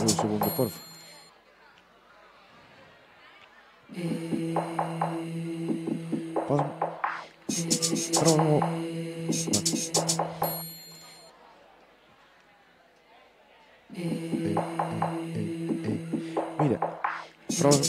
un segundo, porfa. Provo. Mira, provo.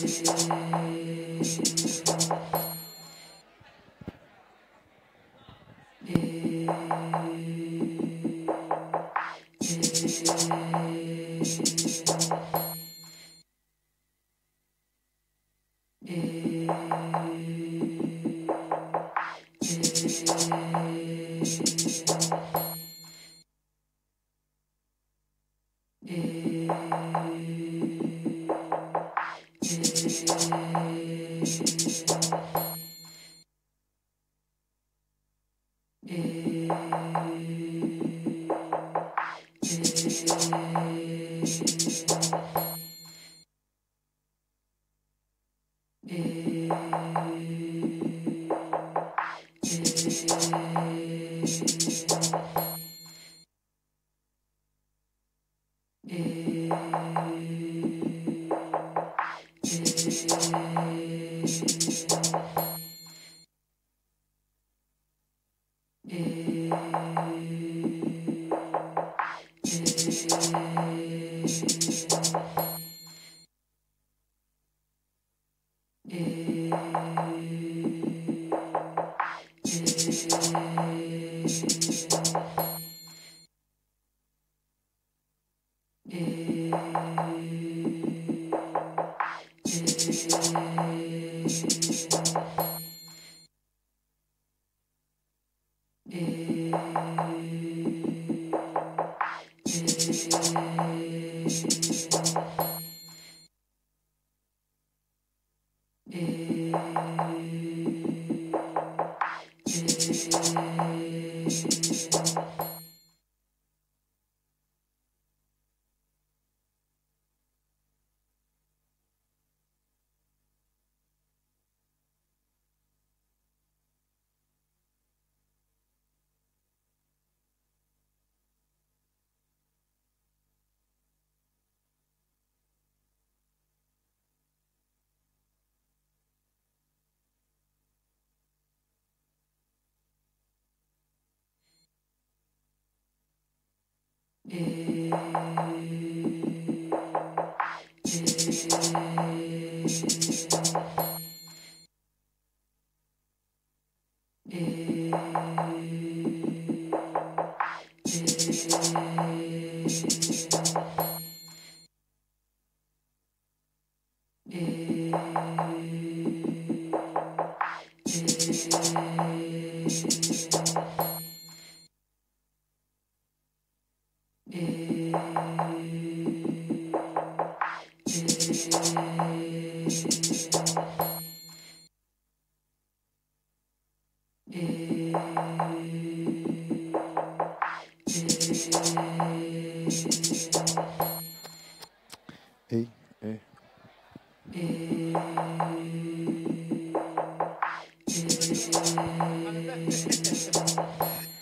Ei, ei.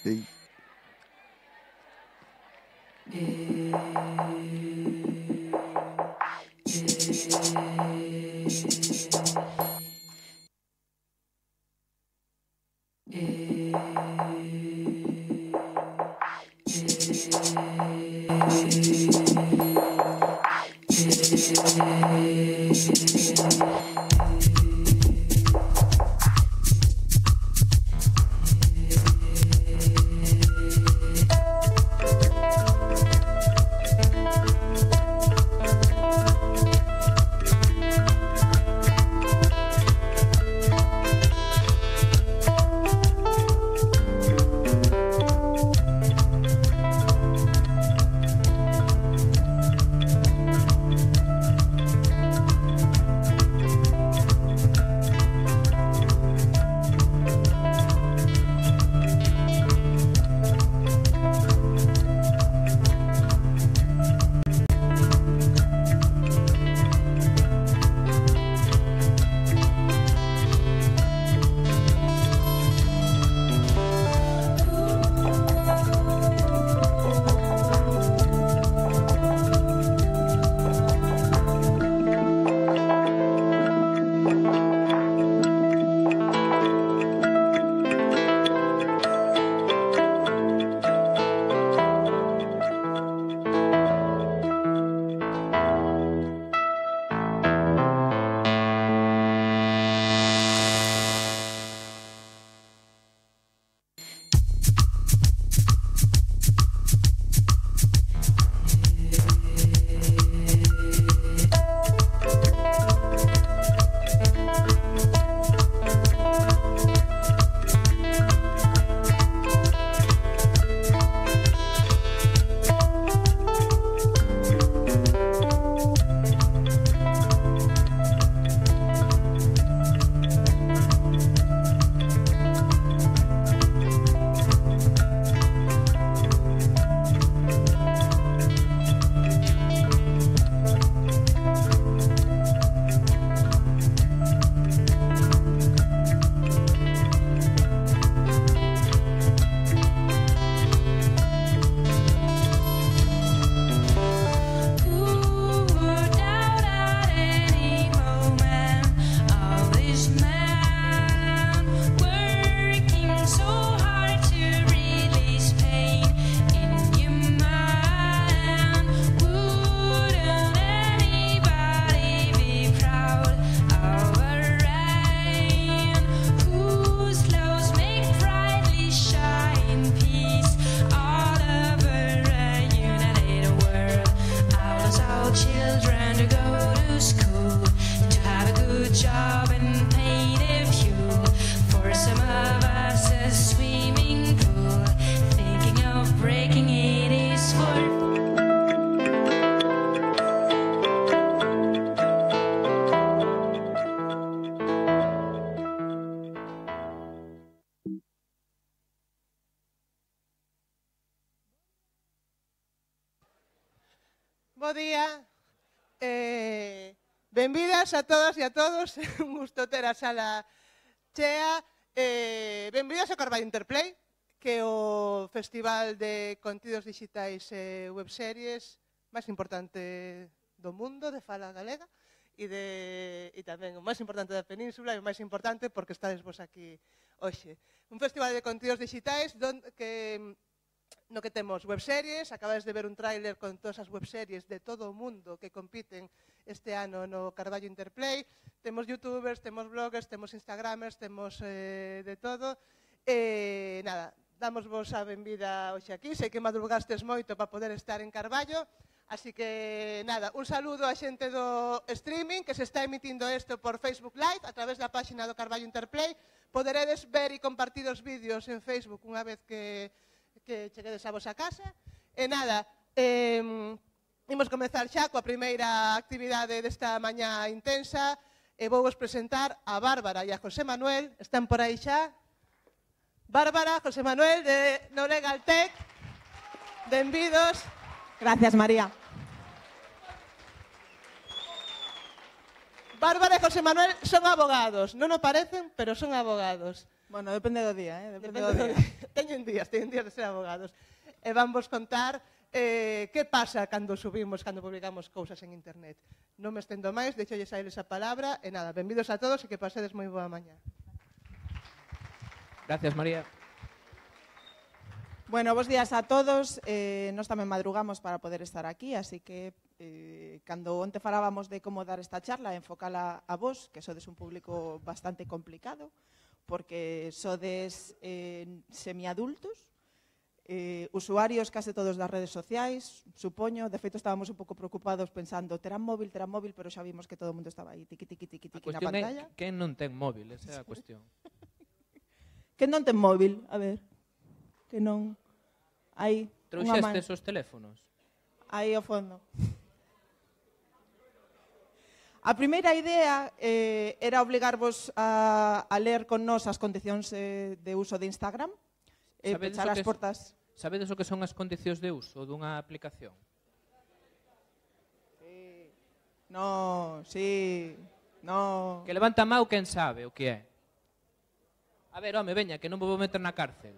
Ei. all children to go to school, to have a good job and paint a fuel. For some of us a swimming pool, thinking of breaking it is for. Bo día, benvidas a todas e a todos, un gusto ter a sala chea, benvidas ao Carballo Interplay, que é o festival de contidos digitais e webseries máis importante do mundo, de fala galega, e tamén o máis importante da península e o máis importante porque estades vos aquí hoxe. Un festival de contidos digitais no que temos webseries, acabades de ver un tráiler con todas as webseries de todo o mundo que compiten este ano no Carballo Interplay. Temos youtubers, temos bloggers, temos instagramers, temos de todo. Nada, damos vos a benvida hoxe aquí. Sei que madrugastes moito para poder estar en Carballo. Así que, nada, un saludo a xente do streaming que se está emitindo isto por Facebook Live a través da páxina do Carballo Interplay. Poderedes ver e compartir os vídeos en Facebook unha vez que cheguedes a vosa casa. E nada, imos comezar xa coa primeira actividade desta mañá intensa e vou vos presentar a Bárbara e a José Manuel. Están por aí xa? Bárbara, José Manuel de Nolegal Tech. Benvidos. Gracias, María. Bárbara e José Manuel son abogados. Non o parecen, pero son abogados. Bueno, depende do día, Depende do día. Teñen días de ser abogados. E van vos contar que pasa cando publicamos cousas en internet. Non me estendo máis, deixolles a eles a palabra. E nada, benvidos a todos e que pasedes moi boa mañá. Gracias, María. Bueno, bos días a todos. Nós tamén madrugamos para poder estar aquí, así que cando onte falábamos de como dar esta charla, enfocala a vos, que sodes un público bastante complicado, porque sodes semiadultos, usuarios case todos das redes sociais, supoño. De feito, estábamos un pouco preocupados pensando, terán móvil, pero xa vimos que todo o mundo estaba aí, tiqui na pantalla. A cuestión é quen non ten móvil, esa é a cuestión. Quen non ten móvil? A ver, que non... Aí, unha man. Trouxestes os teléfonos? Aí ao fondo. A primeira idea era obligarvos a ler con nós as condicións de uso de Instagram, pechar as portas. Sabedes o que son as condicións de uso dunha aplicación? Sí. No, sí, no. Que levanta a mão quen sabe o que é. A ver, home, veña, que non vou meter na cárcel.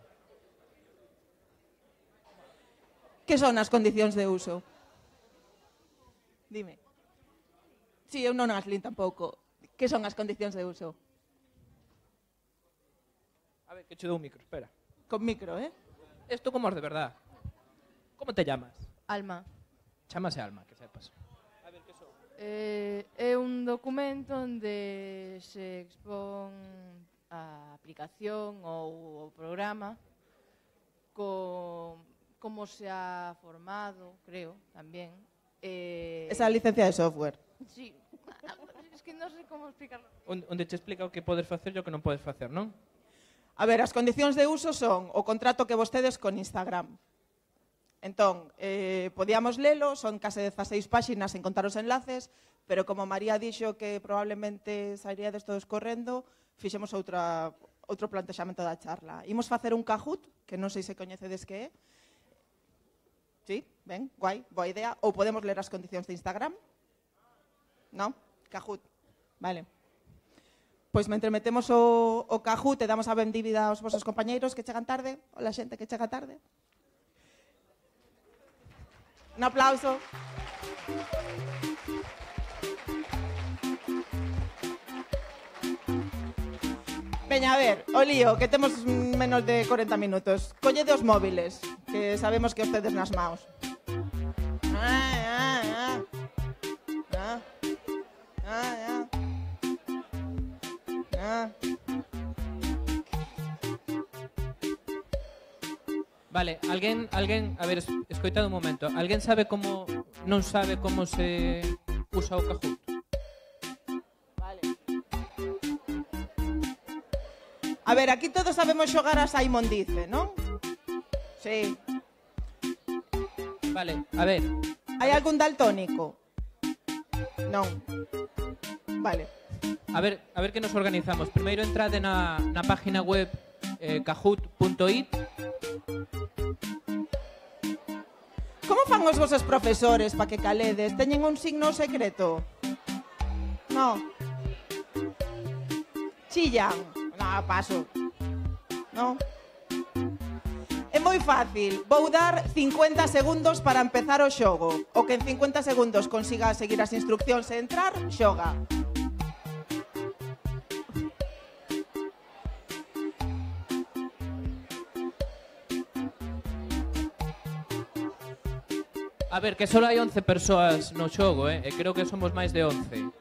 Que son as condicións de uso? Dime. Si, eu non as lin tampouco. Que son as condicións de uso? A ver, que che dou un micro, espera. Con micro, Esto como es de verdad. Como te llamas? Alma. Chámase Alma, que sepas. A ver, que son? É un documento onde se expón a aplicación ou o programa con como se ha formado, creo, tamén. Esa licencia de software. Sí, es que non sei como explicarlo. Onde te explica o que podes facer e o que non podes facer, non? A ver, as condicións de uso son o contrato que vos tedes con Instagram. Entón, podíamos lelo, son case 16 páxinas en contar os enlaces, pero como María dixo que probablemente sairíades todos correndo, fixemos outro plantexamento da charla. Imos facer un Kahoot, que non sei se coñecedes que é. Sí, ben, guai, boa idea. Ou podemos ler as condicións de Instagram. Non? Kahoot. Vale. Pois mentre metemos o Kahoot e damos a benvida aos vosos compañeiros que chegan tarde, ou la xente que chega tarde. Un aplauso. Veña, a ver, o lío, que temos menos de 40 minutos. Collede os móviles, que sabemos que os tedes nas maus. Vale, alguén, a ver, escoitad un momento. Alguén sabe como non sabe como se usa o Kahoot. Vale. A ver, aquí todos sabemos xogar a Simon Dice, non? Sí. Vale, a ver, Hai algún daltónico? Non. Vale. a ver que nos organizamos. Primeiro entrade na página web kahoot.it. Como fan os vosos profesores para que caledes? Teñen un signo secreto? No. Chillan? No, paso. No. É moi fácil. Vou dar 50 segundos para empezar o xogo. O que en 50 segundos consiga seguir as instruccións e entrar, xoga. A ver, que só hai 11 persoas no xogo, e creo que somos máis de 11.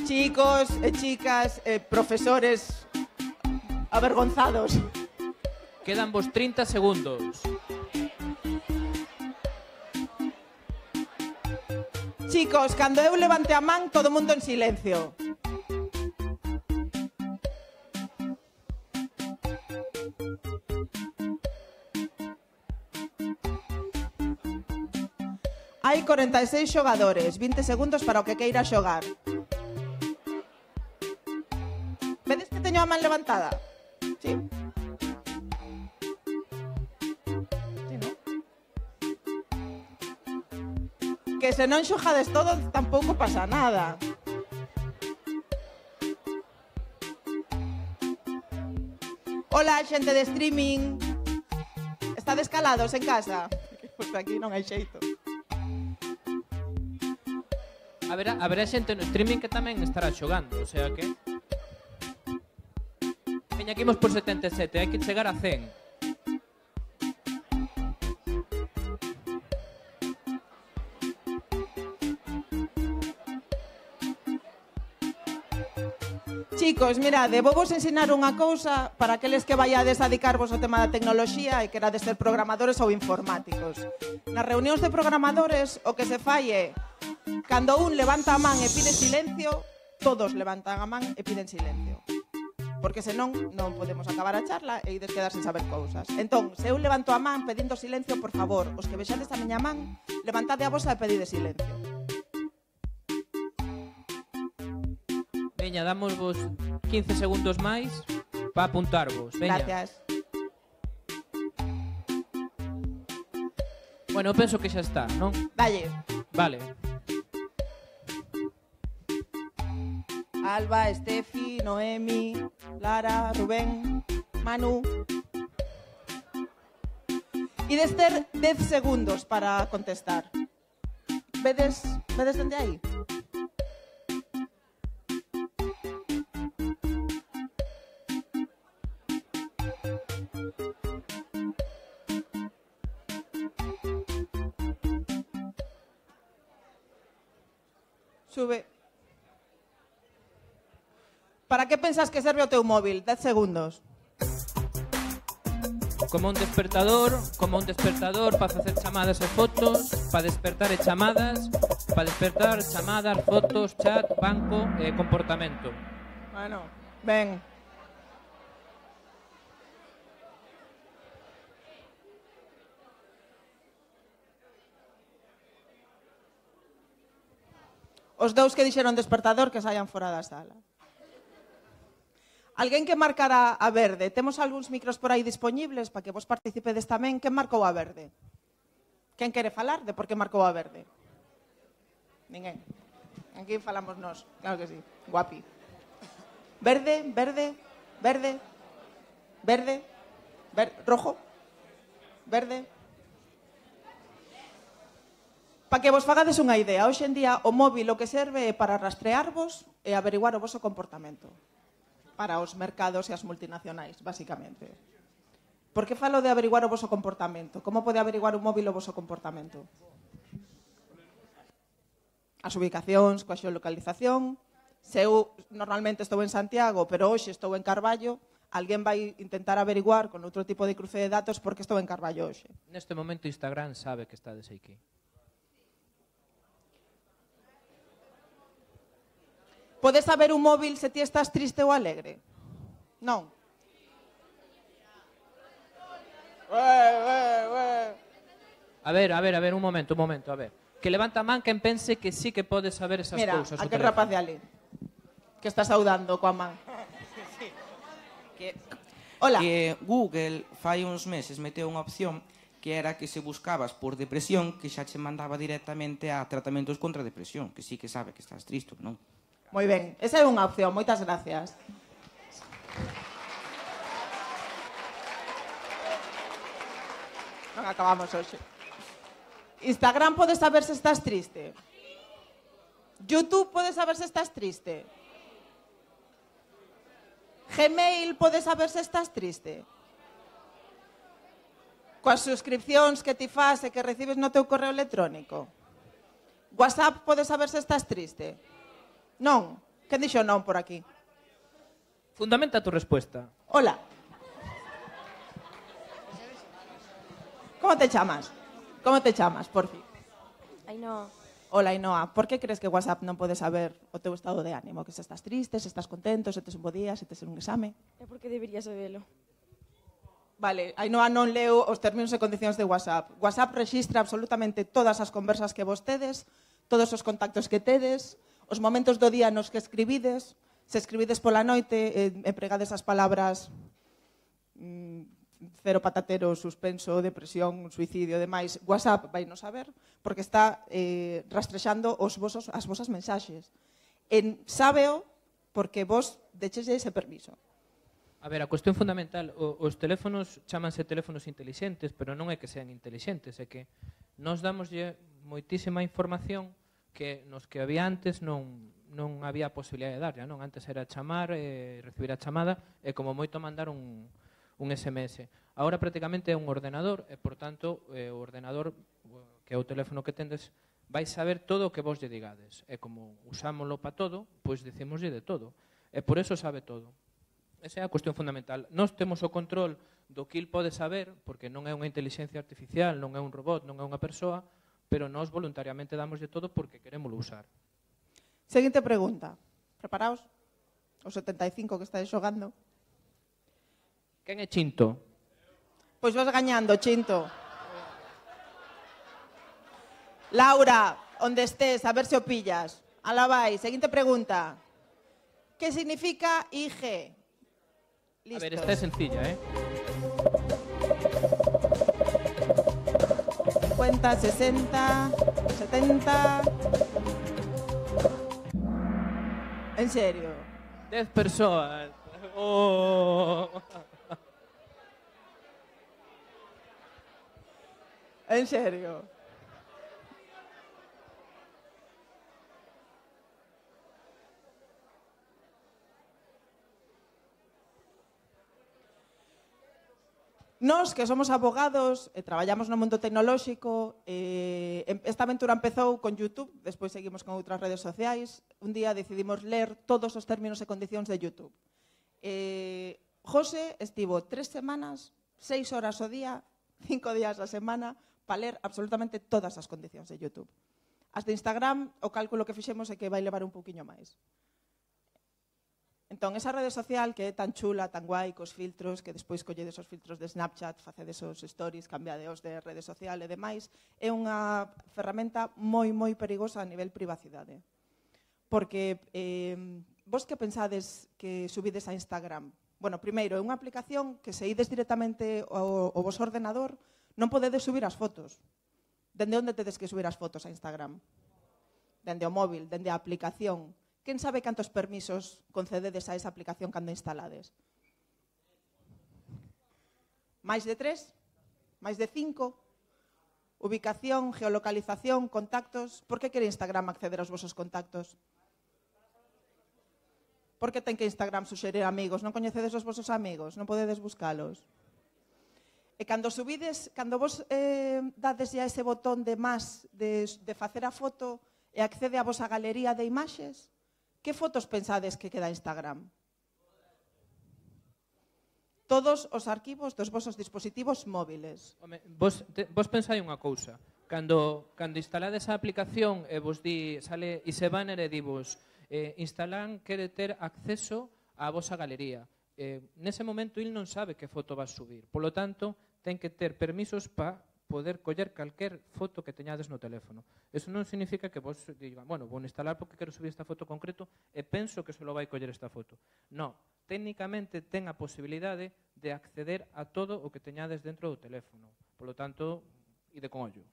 Chicos e chicas, profesores avergonzados. Quedan vos 30 segundos. Chicos, cando eu levante a man, todo o mundo en silencio. Hai 46 xogadores, 20 segundos para o que queira xogar. Vedes que teño a man levantada? Sí. Sí, non? Que se non xogades todo, tampouco pasa nada. Hola, xente de streaming. Estades calados en casa? Pois aquí non hai xeito. Haberá xente no streaming que tamén estará xogando, o sea que... Veña, aquí imos por 77, hai que chegar a 100. Chicos, mirade, vou vos ensinar unha cousa para aqueles que vaiades a dedicarvos ao tema da tecnoloxía e querades ser programadores ou informáticos. Nas reunións de programadores, o que se fai é, cando un levanta a man e pide silencio, todos levantan a man e piden silencio. Porque senón non podemos acabar a charla e ides quedar sen saber cousas. Entón, se eu levanto a man pedindo silencio, por favor, os que vexades a miña man, levantade a vosa e pedide silencio. Veña, damos vos 15 segundos máis para apuntarvos. Veña. Gracias. Bueno, eu penso que xa está, non? Dalle. Vale. Alba, Estefi, Noemi, Lara, Rubén, Manu. Ides ter 10 segundos para contestar. Vedes dende aí? Sube. Para que pensas que serve o teu móvil? 10 segundos. Como un despertador para facer chamadas e fotos, para despertar e chamadas, para despertar chamadas, fotos, chat, banco e comportamento. Bueno, ven. Os dous que dixeron despertador que saian fora da sala. Alguén que marcara a verde. Temos algúns micros por aí disponibles para que vos participedes tamén. Quen marcou a verde? Quen quere falar de por que marcou a verde? Ninguén. Aquí falamos nós. Claro que sí. Guapi. Verde, verde, verde, verde, rojo, verde. Para que vos fagades unha idea, hoxe en día o móvil o que serve é para rastrearvos e averiguar o voso comportamento. Para os mercados e as multinacionais, basicamente. Por que falo de averiguar o voso comportamento? Como pode averiguar un móvil o voso comportamento? As ubicacións, coa xeolocalización. Se eu normalmente estou en Santiago, pero hoxe estou en Carballo, alguén vai intentar averiguar con outro tipo de cruce de datos porque estou en Carballo hoxe. Neste momento Instagram sabe que estades aquí. Podes saber un móvil se ti estás triste ou alegre? Non. A ver, un momento, a ver. Que levanta a man quen pense que sí que pode saber esas Mira, cousas. o aquel teléfono. rapaz de ali, que está saudando coa man. Hola. Que Google fai uns meses meteu unha opción que era que se buscabas por depresión que xa che mandaba directamente a tratamentos contra a depresión, que sí que sabe que estás triste, non? Moi ben, esa é unha opción, moitas gracias. Non acabamos hoxe. Instagram pode saber se estás triste. YouTube pode saber se estás triste. Gmail pode saber se estás triste. Coas suscripcións que ti fas e que recibes no teu correo electrónico. WhatsApp pode saber se estás triste. Non. Quen dixo non por aquí? Fundamenta a tu respuesta. Hola. Como te chamas? Como te chamas, por fin? Ainhoa, Hola, Ainhoa. Por que crees que WhatsApp non pode saber o teu estado de ánimo? Que se estás triste, se estás contento, se tes un bo día, se tes un exame? é porque debería sabelo. Vale, Ainhoa non leu os términos e condicións de WhatsApp. WhatsApp rexistra absolutamente todas as conversas que vos tedes, todos os contactos que tedes, os momentos do día nos que escribides, se escribides pola noite, empregades as palabras cero patatero, suspenso, depresión, suicidio, demais, WhatsApp vai non saber, porque está rastrexando as vosas mensaxes. Sábeo porque vos decheslle ese permiso. A ver, a cuestión fundamental, os teléfonos chámanse teléfonos intelixentes, pero non é que sean intelixentes, é que nos damoslle moitísima información que nos que había antes non había posibilidade de darlle, non? Antes era chamar, recibir a chamada e como moito mandar un SMS. Agora prácticamente é un ordenador e, por tanto, o ordenador, que é o teléfono que tendes, vai saber todo o que vos lle digades. E como usámoslo para todo, pois dicimoslle de todo. E por eso sabe todo. Esa é a cuestión fundamental. Nós temos o control do que il pode saber, porque non é unha inteligencia artificial, non é un robot, non é unha persoa, pero nós voluntariamente damoslle todo porque queremoslo usar. Seguinte pregunta. Preparaos? Os 75 que estáis xogando. Quen é Chinto? Pois vas gañando, Chinto. Laura, onde estés, a ver se o pillas. Alá vai, seguinte pregunta. Que significa IG? Listos. A ver, esta é sencilla, 50, 60, 70... En serio. 10 persoas. Oh. En serio. Nós, que somos abogados e traballamos no mundo tecnolóxico, esta aventura empezou con YouTube, despois seguimos con outras redes sociais. Un día decidimos ler todos os términos e condicións de YouTube. José estivo 3 semanas, 6 horas ao día, 5 días a semana, para ler absolutamente todas as condicións de YouTube. As de Instagram, o cálculo que fixemos é que vai levar un pouquiño máis. Entón, esa rede social que é tan chula, tan guai, cos filtros, que despois colledes os filtros de Snapchat, facedes os stories, cambiadeos de rede social e demais, é unha ferramenta moi, moi perigosa a nivel privacidade. Porque vos que pensades que subides a Instagram? Bueno, primeiro, é unha aplicación que se ides directamente ao vos ordenador, non podedes subir as fotos. Dende onde tedes que subir as fotos a Instagram? Dende o móvil, dende a aplicación. Quen sabe cantos permisos concededes a esa aplicación cando instalades? Mais de 3? Mais de 5? Ubicación, geolocalización, contactos. Por que quere Instagram acceder aos vosos contactos? Por que ten que Instagram suxerir amigos? Non coñecedes os vosos amigos? Non podedes buscalos? E cando subides, cando vos dades ya ese botón de más de facer a foto e accede a vosa galería de imaxes, que fotos pensades que queda Instagram? todos os arquivos dos vosos dispositivos móviles. Home, vos pensai unha cousa. Cando instalades a aplicación e vos di, sale ese banner e divos instalan quere ter acceso á vosa galería. Nese momento il non sabe que foto vas subir. Polo tanto, ten que ter permisos para poder coller calquer foto que teñades no teléfono. Eso non significa que vos digan, bueno, vou instalar porque quero subir esta foto concreto e penso que só vai coller esta foto. Non, técnicamente ten a posibilidade de acceder a todo o que teñades dentro do teléfono. Polo tanto, ide con ollo.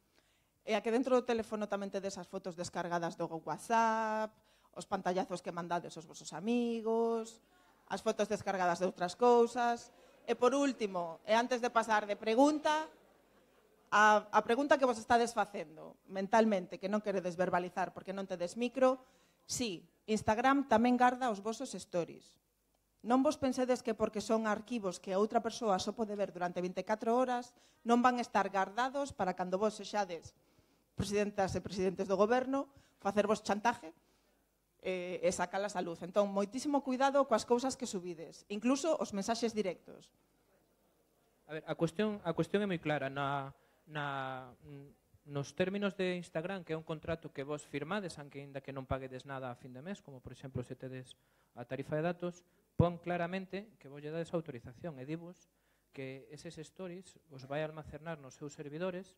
E a que dentro do teléfono tamén tedes as fotos descargadas do WhatsApp, os pantallazos que mandades aos vosos amigos, as fotos descargadas de outras cousas. E por último, e antes de pasar de pregunta, a pregunta que vos estades facendo mentalmente, que non queredes verbalizar porque non tedes micro, sí, Instagram tamén garda os vosos stories. Non vos pensedes que porque son arquivos que a outra persoa só pode ver durante 24 horas, non van estar gardados para cando vos sexades presidentas e presidentes do goberno, facervos chantaje e sacalas á luz. Entón, moitísimo cuidado coas cousas que subides, incluso os mensaxes directos. A ver, a cuestión é moi clara. Nos términos de Instagram, que é un contrato que vos firmades, aínda que non paguedes nada a fin de mes, como por exemplo se tedes a tarifa de datos, pon claramente que vos lle dades autorización e divos que eses stories os vai almacenar nos seus servidores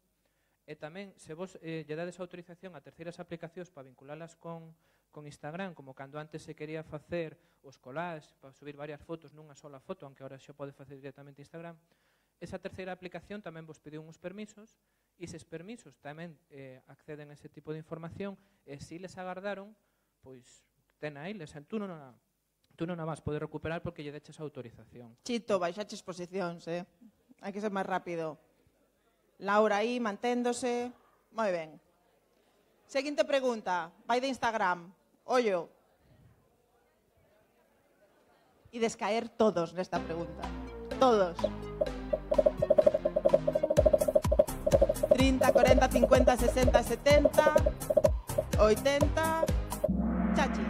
e tamén se vos lle dades autorización a terceiras aplicacións para vinculalas con Instagram, como cando antes se quería facer os collages para subir varias fotos nunha sola foto, aunque agora xa pode facer directamente Instagram, esa terceira aplicación tamén vos pediu uns permisos e eses permisos tamén acceden a ese tipo de información e se les agardaron, pois ten a eles, tú non a vas poder recuperar porque lle deches a autorización. Chito, baixaches posicións, hai que ser máis rápido. Laura aí, manténdose. Moi ben. Seguinte pregunta, vai de Instagram. Ollo. E descaer todos nesta pregunta. Todos. 30, 40, 50, 60, 70, 80... Chachi.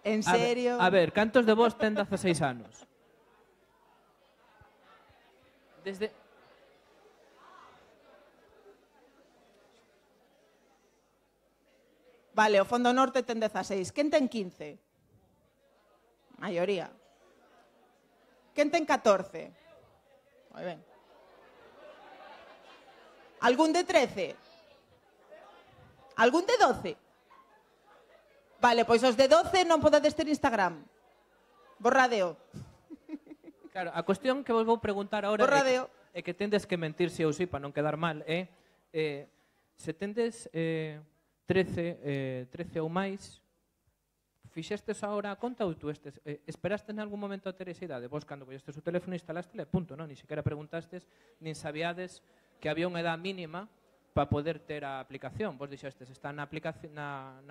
En serio? A ver, cantos de vos ten 16 anos? Desde... Vale, o Fondo Norte ten 16. Quen ten 15? Maioría. Quen ten 14? Moi ben. Algún de 13? Algún de 12? Vale, pois os de 12 non podedes ter Instagram. Borradeo. Claro, a cuestión que vos vou preguntar agora é que tendes que mentir si ou si para non quedar mal, se tendes 13 ou máis, fixestes agora a conta ou tú esperaste en algún momento a ter esa idade? Vos cando collestes o teléfono instalástele, punto, non? Ni sequera preguntastes, nin sabíades que había unha edad mínima para poder ter a aplicación. Vos dixestes, está na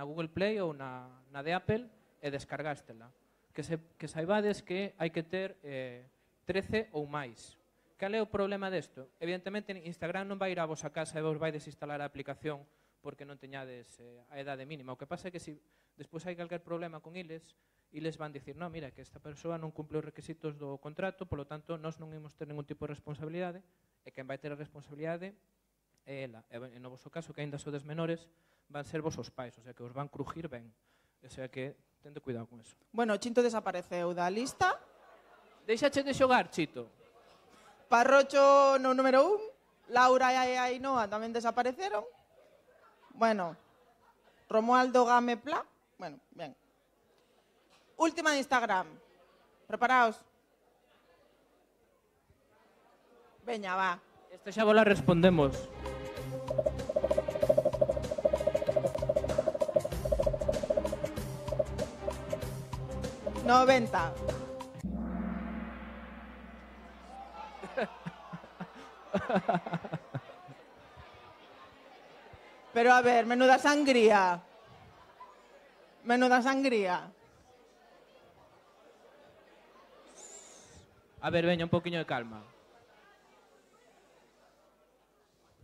Google Play ou na de Apple e descargástela. Que saibades que hai que ter 13 ou máis. Cal é o problema desto? Evidentemente, Instagram non vai ir a vosa casa e vos vai desinstalar a aplicación porque non teñades a edade mínima. O que pasa é que se despois hai calquer problema con eles van dicir, non, mira, que esta persoa non cumple os requisitos do contrato, polo tanto, nós non imos ter ningún tipo de responsabilidade, e quen vai ter a responsabilidade é ela. E no vosso caso, que aínda sodes menores, van ser vos os pais, o sea, que os van crujir ben. O sea, que tende cuidado con eso. Bueno, Chinto desapareceu da lista. Deixache de xogar, Chito. Parrocho no número 1. Laura e Ainhoa tamén desapareceron. Bueno, Romualdo Game Pla. Bueno, ben. Última de Instagram. Preparaos. Veña, va. Esta xa vola respondemos. $90. Pero a ver, menuda sangría. Menuda sangría. A ver, veña, un poquinho de calma.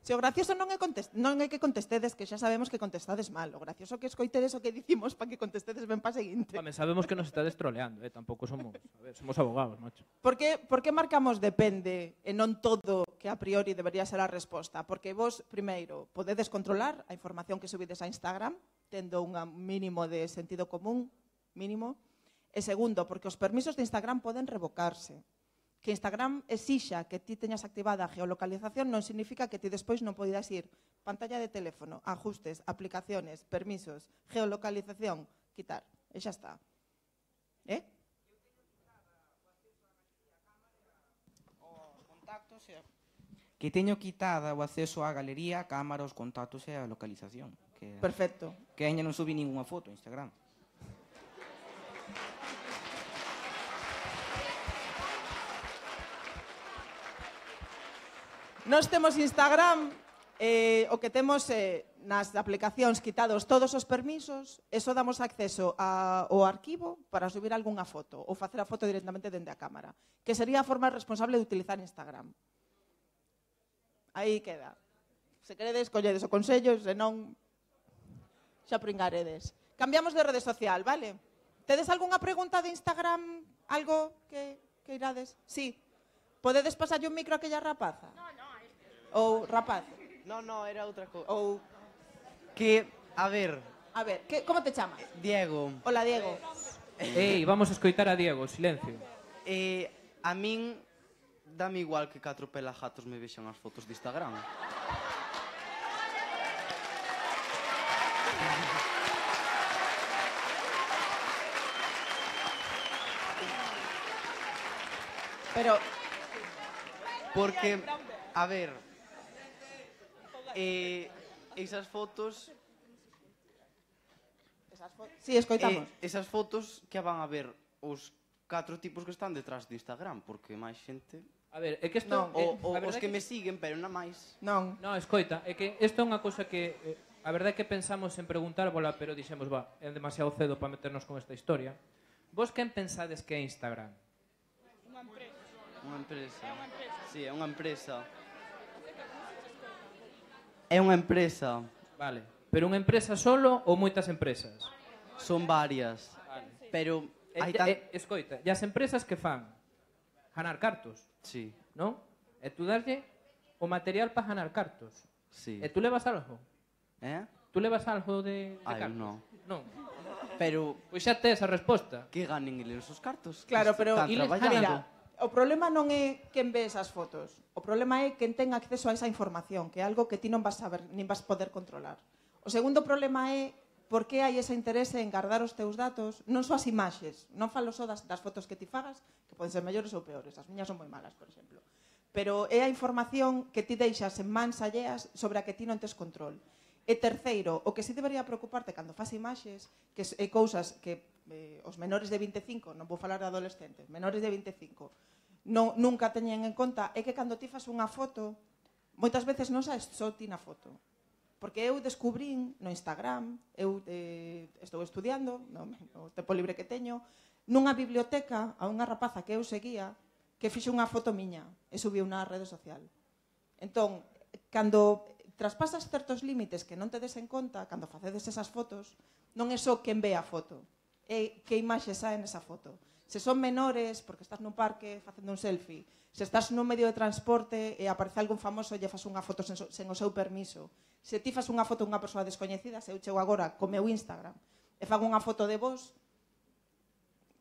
Se o gracioso non é que contestedes, que xa sabemos que contestades mal. O gracioso que escoitedes o que dicimos para que contestedes ben pa seguinte. Home, sabemos que nos estades troleando, tampouco somos, a ver, somos abogados, macho. Por que marcamos depende e non todo que a priori debería ser a resposta? Porque vos, primeiro, podedes controlar a información que subides a Instagram, tendo un mínimo de sentido común, mínimo. E segundo, porque os permisos de Instagram poden revocarse. Que Instagram exixa que ti teñas activada a geolocalización non significa que ti despois non poidas ir pantalla de teléfono, ajustes, aplicaciones, permisos, geolocalización, quitar. E xa está. Que teño quitada o acceso á galería, a cámara, os contactos e a localización. Perfecto. Que ainda non subí ninguna foto a Instagram. Nós temos Instagram, o que temos nas aplicacións quitados todos os permisos, e só damos acceso ao arquivo para subir algunha foto ou facer a foto directamente dende a cámara, que sería a forma responsable de utilizar Instagram. Aí queda. Se queredes, colledes o consello, se non, xa pringaredes. Cambiamos de rede social, vale? Tedes algunha pregunta de Instagram? Algo que irades? Sí. Podedes pasarlle un micro a aquella rapaza? Ou rapaz? No, era outra cousa. Ou... Que, a ver... A ver, como te chamas? Diego. Hola, Diego. Ei, vamos a escoitar a Diego, silencio. A min dame igual que 4 pelajatos me vexan as fotos de Instagram. Pero... Porque, a ver... esas fotos... Sí, escoitamos. Esas fotos que van a ver os 4 tipos que están detrás de Instagram, porque máis xente... A ver, é que isto... Os que me siguen, pero non máis. Non. Non, escoita, é que isto é unha cousa que... a verdade é que pensamos en preguntárvola, pero dixemos, é demasiado cedo para meternos con esta historia. Vos quen pensades que é Instagram? Unha empresa. Sí, é unha empresa. É unha empresa. Vale. Pero unha empresa solo ou moitas empresas? Son varias. Vale. Pero hai escoita, e as empresas que fan? Ganar cartos. Sí. Non? E tú darlle o material para ganar cartos. Sí. E tú levas algo? Tú levas algo de cartos? Non. Non. Pero... Pois xa tes a resposta. Que ganen eles os cartos. Claro, pero... Mira, o problema non é quen ve esas fotos. O problema é quen ten acceso a esa información, que é algo que ti non vas saber, nin vas poder controlar. O segundo problema é por que hai ese interese en guardar os teus datos, non só as imaxes, non falo só das fotos que ti fagas, que poden ser mellores ou peores, as miñas son moi malas, por exemplo. Pero é a información que ti deixas en mans alleas sobre a que ti non tes control. E terceiro, o que sí debería preocuparte cando fas imaxes, que é cousas que os menores de 25, non vou falar de adolescentes, menores de 25, nunca teñen en conta, é que cando ti fas unha foto, moitas veces non sabes só ti na foto. Porque eu descubrín no Instagram, eu estou estudiando, no tempo libre que teño, nunha biblioteca a unha rapaza que eu seguía, que fixe unha foto miña e subiu na rede social. Entón, cando traspasas certos límites que non te des en conta, cando facedes esas fotos, non é só quen ve a foto, é que imaxe sae nesa foto. Se son menores, porque estás nun parque facendo un selfie, se estás nun medio de transporte e aparece algún famoso e lle fas unha foto sen o seu permiso, se ti fas unha foto unha persoa descoñecida, se eu chego agora co meu Instagram e fago unha foto de vos,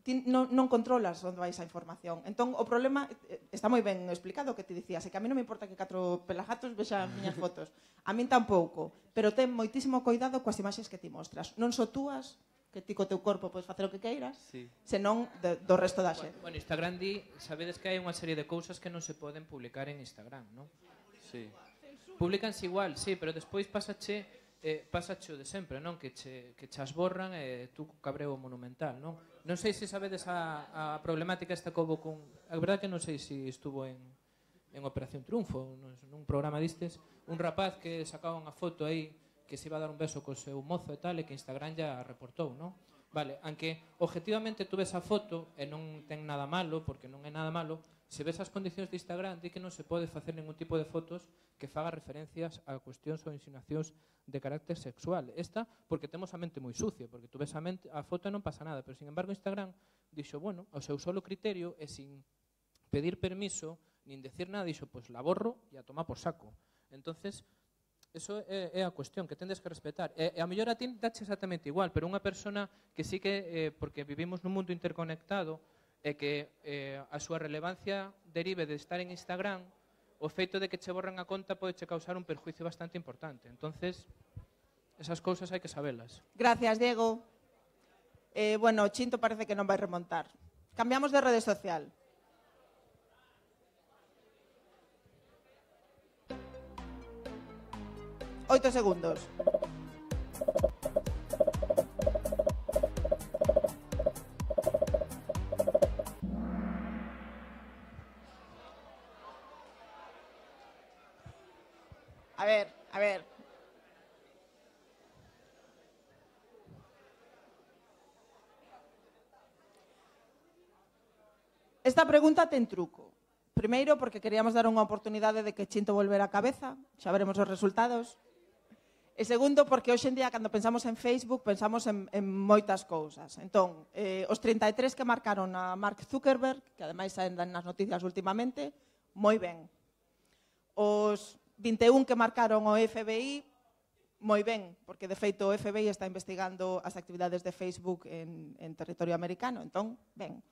ti non controlas onde vai esa información. Entón, o problema está moi ben explicado o que te dicías, é que a mí non me importa que 4 pelajatos vexan miñas fotos. A min tampouco, pero ten moitísimo cuidado coas imaxes que ti mostras. Non só túas, que ti co teu corpo podes facer o que queiras, senón do resto da xente. Bueno, Instagram sabedes que hai unha serie de cousas que non se poden publicar en Instagram, non? Sí. Publicanse igual, sí, pero despois pásache o de sempre, non? Que che as borran e tú cabreo monumental, non? Non sei se sabedes a problemática esta que houve con... A verdade que non sei se estuvo en Operación Triunfo, nun programa distes, un rapaz que sacaba unha foto aí que se iba a dar un beso co seu mozo e tal, e que Instagram ya reportou, non? Vale, aunque objetivamente tú ves a foto e non ten nada malo, porque non é nada malo, se ves as condicións de Instagram, di que non se pode facer ningún tipo de fotos que faga referencias a cuestións ou insinuacións de carácter sexual. Esta, porque temos a mente moi sucia, porque tú ves a foto e non pasa nada, pero sin embargo Instagram dixo, bueno, ao seu solo criterio e sin pedir permiso, nin decir nada, dixo, pois la borro e a tomar por saco. Entonces, eso é a cuestión que tendes que respetar. E a mellor a ti dache exactamente igual, pero unha persona que sí que, porque vivimos nun mundo interconectado, e que a súa relevancia derive de estar en Instagram, o feito de que che borran a conta pode che causar un perjuicio bastante importante. Entonces, esas cousas hai que sabelas. Gracias, Diego. Bueno, Chinto parece que non vai remontar. Cambiamos de rede social. Oito segundos. A ver. Esta pregunta ten truco. Primeiro, porque queríamos dar unha oportunidade de que Chinto volvera a cabeza, xa veremos os resultados. E segundo, porque hoxe en día, cando pensamos en Facebook, pensamos en moitas cousas. Entón, os 33 que marcaron a Mark Zuckerberg, que ademais saen nas noticias últimamente, moi ben. Os 21 que marcaron o FBI, moi ben, porque de feito o FBI está investigando as actividades de Facebook en territorio americano, entón, ben.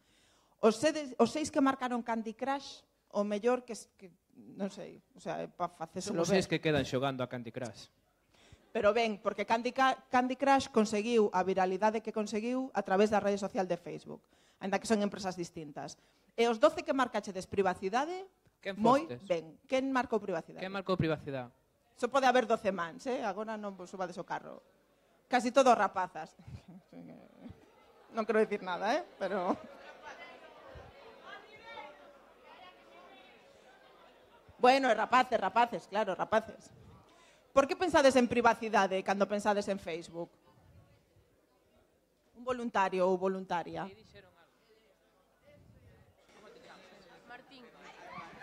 Os 6 que marcaron Candy Crush, o mellor que non sei, o sea, para facéselo Son os ben. 6 que quedan xogando a Candy Crush. Pero ben, porque Candy Crush conseguiu a viralidade que conseguiu a través da rede social de Facebook, ainda que son empresas distintas. E os 12 que marcachedes privacidade, moi ben. Quen marcou privacidade? Quen marcou privacidade? Só pode haber 12 mans, agora non vos subades o carro. Casi todos rapazas. Non quero dicir nada, pero... Bueno, rapaces, claro, rapaces. Por que pensades en privacidade cando pensades en Facebook? Un voluntario ou voluntaria?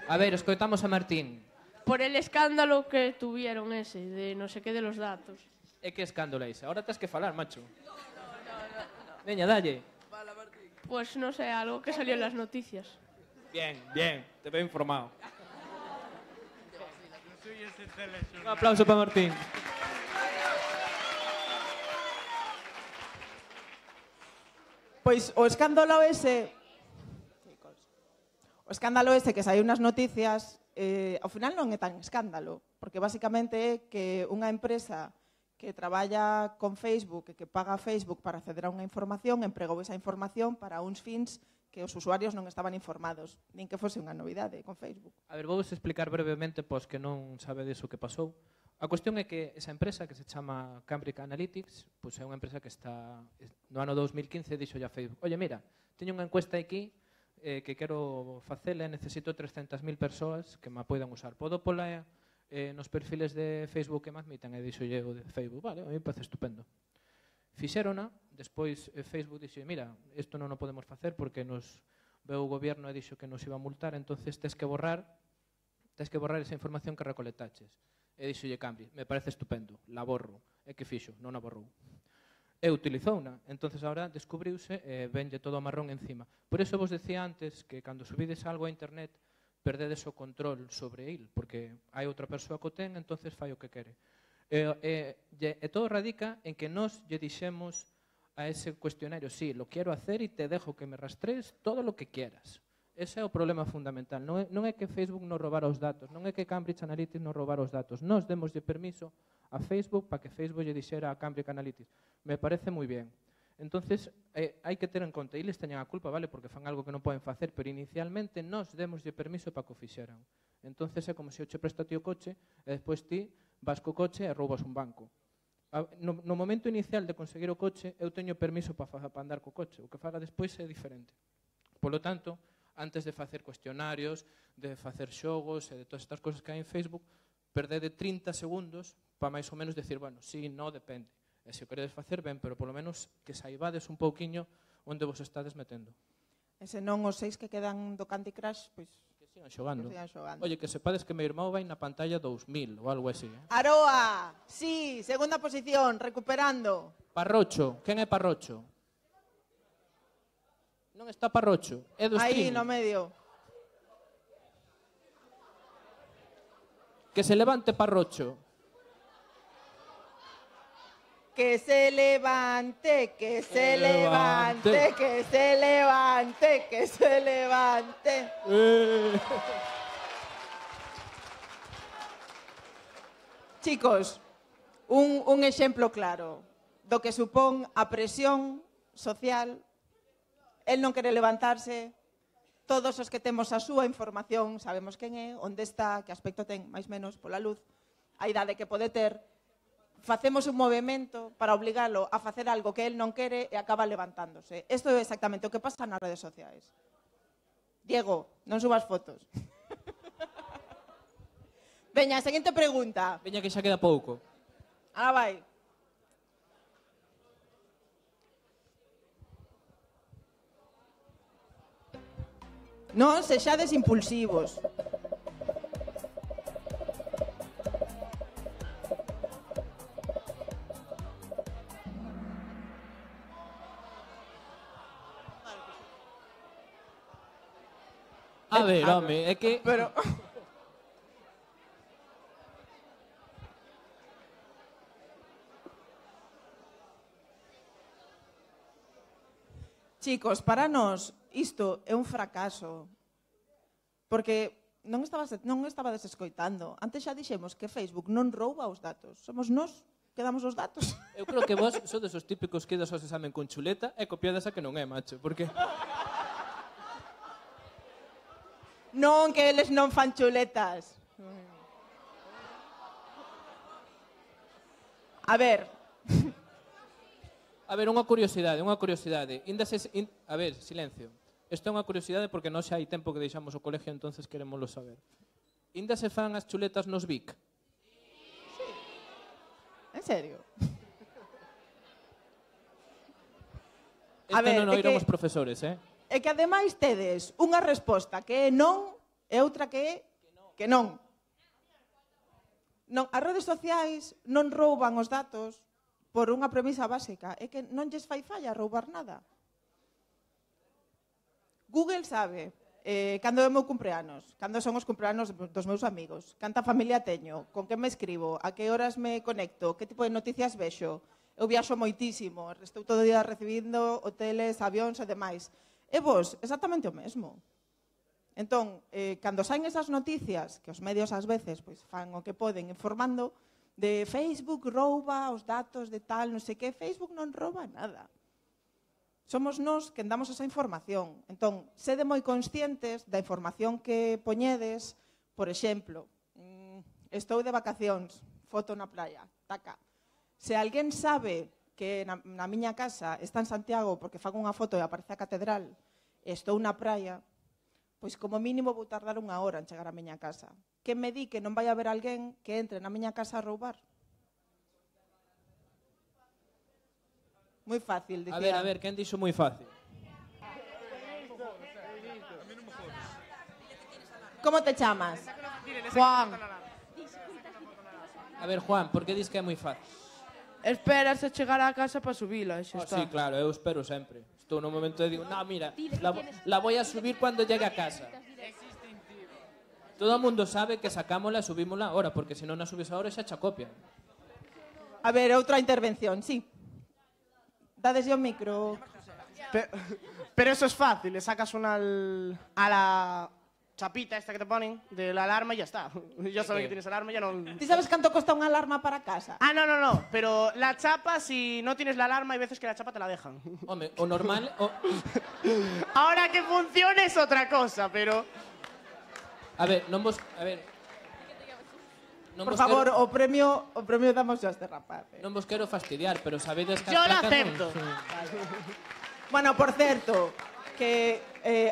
A ver, escoitamos a Martín. Por el escándalo que tuvieron ese, de no sé qué de los datos. E que escándalo é ese? Ahora tens que falar, macho. Veña, dalle. Pues no sé, algo que salió en las noticias. Bien, te veo informado. Un aplauso para Martín. Pois o escándalo ese... O escándalo ese que saiu nas noticias, ao final non é tan escándalo, porque basicamente é que unha empresa que traballa con Facebook e que paga a Facebook para acceder a unha información, empregou esa información para uns fins que os usuarios non estaban informados, nin que fose unha novidade con Facebook. A ver, vou explicar brevemente pois que non sabedes o que pasou. A cuestión é que esa empresa que se chama Cambridge Analytics, pois é unha empresa que está no ano 2015 dixo ya Facebook, oye, mira, teño unha encuesta aquí que quero facela e necesito 300.000 persoas que me poidan usar. Podo pola nos perfiles de Facebook que me admitan? E dixo o de Facebook, vale, a mí me parece estupendo. Fixérona, despois Facebook dixo, mira, isto non o podemos facer porque nos veu o goberno e dixo que nos iba a multar, entonces tes que borrar esa información que recolectaches. E dixolle Cambridge, me parece estupendo, la borro. E que fixo? Non a borrou. E utilizouna, entonces agora descubriuse e venlle todo o marrón encima. Por eso vos decía antes que cando subides algo a internet perdedes o control sobre il, porque hai outra persoa que o ten, entonces fai o que quere. E todo radica en que nós lle dixemos a ese cuestionario, sí, lo quiero hacer e te dejo que me rastrees todo lo que quieras. Ese é o problema fundamental. Non é que Facebook nos robara os datos, non é que Cambridge Analytics nos robara os datos. Nós demoslle permiso a Facebook para que Facebook lle dixera a Cambridge Analytics. Me parece moi bien. Entonces, hai que ter en conta, eles teñen a culpa, vale, porque fan algo que non poden facer, pero inicialmente nós demoslle permiso para que o fixeran. Entonces é como se eu che presto a ti o coche e despois ti vas co coche e roubas un banco. No momento inicial de conseguir o coche, eu teño permiso para andar co coche. O que faga despois é diferente. Polo tanto, antes de facer cuestionarios, de facer xogos e de todas estas cosas que hai en Facebook, perdede 30 segundos para máis ou menos decir, bueno, sí, no, depende. E se o queredes facer ben, pero polo menos que saibades un pouquiño onde vos estades metendo. E se non os 6 que quedan do Candy Crush, pois Que sigan xogando. que sigan xogando. Oye, que sepades que meu irmão vai na pantalla 2000 ou algo así. Aroa, sí, segunda posición, recuperando. Parrocho, quen é Parrocho? Non está Parrocho, é do Aí streaming. no medio. Que se levante Parrocho. Que se levante, que se levante. levante, que se levante, que se levante. Chicos, un exemplo claro do que supón a presión social, el non quere levantarse, todos os que temos a súa información, sabemos quen é, onde está, que aspecto ten, máis menos, pola luz, a idade que pode ter, facemos un movimento para obligalo a facer algo que el non quere e acaba levantándose. Isto é exactamente o que pasa nas redes sociais. Diego, non subas fotos. Veña, a seguinte pregunta. Veña que xa queda pouco. Ahora vai. Non sexades impulsivos. A ver, home, é que... Pero... Chicos, para nós isto é un fracaso. Porque non estabades escoitando. Antes xa dixemos que Facebook non rouba os datos. Somos nós que damos os datos. Eu creo que vos sodes os típicos que idas aos examen con chuleta e copiades a que non é, macho, porque... Non, que eles non fan chuletas. A ver. A ver, unha curiosidade. A ver, silencio. Isto é unha curiosidade porque non xa hai tempo que deixamos o colegio, entonces queremoslo saber. Inda se fan as chuletas nos Vic? Sí. En serio? Isto non o oíron os profesores, É que ademais tedes unha resposta que é non e outra que é que non. Non, as redes sociais non rouban os datos por unha premisa básica, é que non lles fai falla roubar nada. Google sabe cando é o meu cumpleanos, cando son os cumpleanos dos meus amigos, canta familia teño, con que me escribo, a que horas me conecto, que tipo de noticias vexo. Eu viaxo moitísimo, estou todo o día recibindo hoteles, avións e demais. E vos, exactamente o mesmo. Entón, cando saen esas noticias, que os medios ás veces pois, fan o que poden informando, de Facebook rouba os datos de tal, non sei que, Facebook non rouba nada. Somos nós que damos esa información. Entón, sede moi conscientes da información que poñedes, por exemplo, estou de vacacións, foto na playa, taca. Se alguén sabe que na miña casa está en Santiago porque fago unha foto e aparece a catedral e estou na praia, pois como mínimo vou tardar 1 hora en chegar á miña casa. Que me di que non vai haber alguén que entre na miña casa a roubar? Moi fácil, dicía. A ver, quen dixo moi fácil? Como te chamas? Juan, A ver, Juan, por que dis que é moi fácil? esperas a chegar á casa para subila, xa está. Sí, claro, eu espero sempre. Estou no momento de digo, no, mira, la voy a subir cuando llegue a casa. Todo o mundo sabe que sacámola e subímola ahora, porque se non a subes ahora xa xa copian. A ver, outra intervención, sí. Dadeslle o micro. Pero eso es fácil, le sacas a la chapita esta que te ponen de la alarma y ya está. Ya saben que tienes alarma, ya no... ¿Ti sabes canto costa unha alarma para casa? Ah, no, pero la chapa, si no tienes la alarma, hay veces que la chapa te la dejan. Home, o normal... Ahora que funcione es otra cosa, pero... A ver, non vos... A ver... Por favor, o premio damos a este rapaz. Non vos quero fastidiar, pero sabedes que... Yo lo acepto. Bueno, por certo, que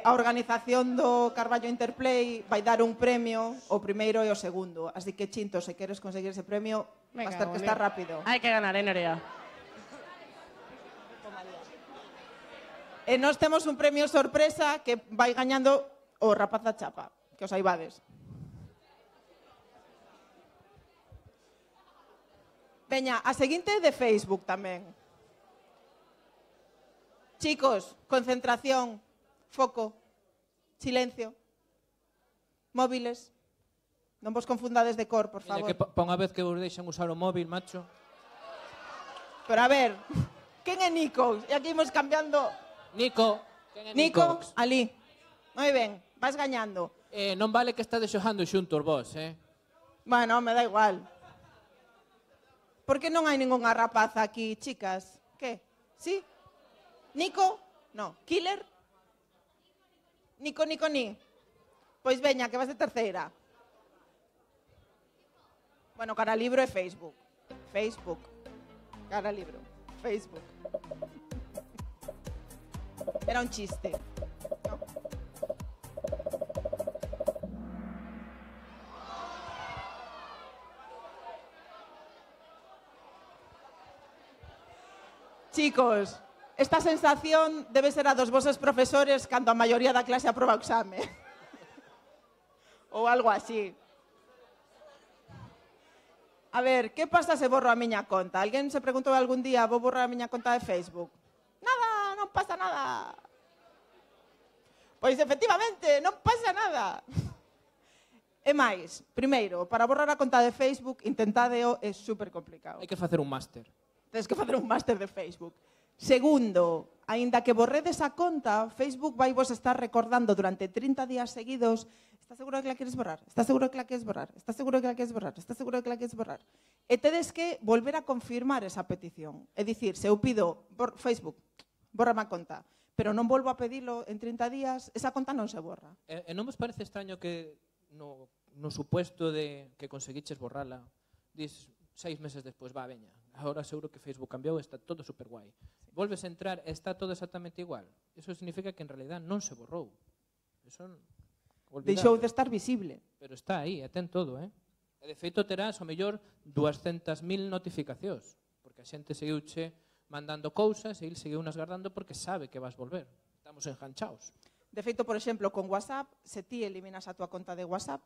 a organización do Carballo Interplay vai dar un premio, o primeiro e o segundo. Así que, Chinto, se queres conseguir ese premio, vas ter que estar rápido. Hay que ganar, Nerea. E nós temos un premio sorpresa que vai gañando o rapaz da chapa, que os saibades. Veña, a seguinte é de Facebook tamén. Chicos, concentración, foco, silencio, móviles. Non vos confundades de cor, por favor. Que pa unha vez que vos deixan usar o móvil, macho. Pero a ver, quen é Nico? E aquí imos cambiando... Nico. Nico, ali. Moi ben, vas gañando. Non vale que estades xogando xuntos vos, Bueno, me da igual. Por que non hai ningunha rapaza aquí, chicas? Que? Sí? Nico? No. Killer? Nico, ni. Pois veña, que vas de terceira. Bueno, cara libro é Facebook. Facebook. Cara libro. Facebook. Era un chiste. No. Chicos, esta sensación debe ser a dos vosos profesores cando a maioría da clase aproba o exame. Ou algo así. A ver, que pasa se borro a miña conta? Alguén se preguntou algún día, vou borrar a miña conta de Facebook? Nada, non pasa nada. Pois efectivamente, non pasa nada. E máis, primeiro, para borrar a conta de Facebook, intentadeo, é super complicado. Hai que facer un máster. Tens que facer un máster de Facebook. Segundo, aínda que borredes a conta, Facebook vai vos estar recordando durante 30 días seguidos: estás seguro que la queres borrar? Estás seguro que la queres borrar? Estás seguro que la queres borrar? Estás seguro que la queres borrar? E tedes que volver a confirmar esa petición. É dicir, se eu pido Facebook, bórrame a conta, pero non volvo a pedilo en 30 días, esa conta non se borra. E non vos parece extraño que no supuesto de que conseguiches borrala, dis 6 meses despois, va, veña, agora seguro que Facebook cambiou, está todo super guai. Volves a entrar, está todo exactamente igual. Eso significa que en realidad non se borrou. Eso deixou de estar visible. Pero está aí, ten todo, E de feito terás, ao mellor, 200.000 notificacións, porque a xente seguiuche mandando cousas e ele seguiu nas guardando porque sabe que vas volver. Estamos enganchaos. De feito, por exemplo, con WhatsApp, se ti eliminas a tua conta de WhatsApp,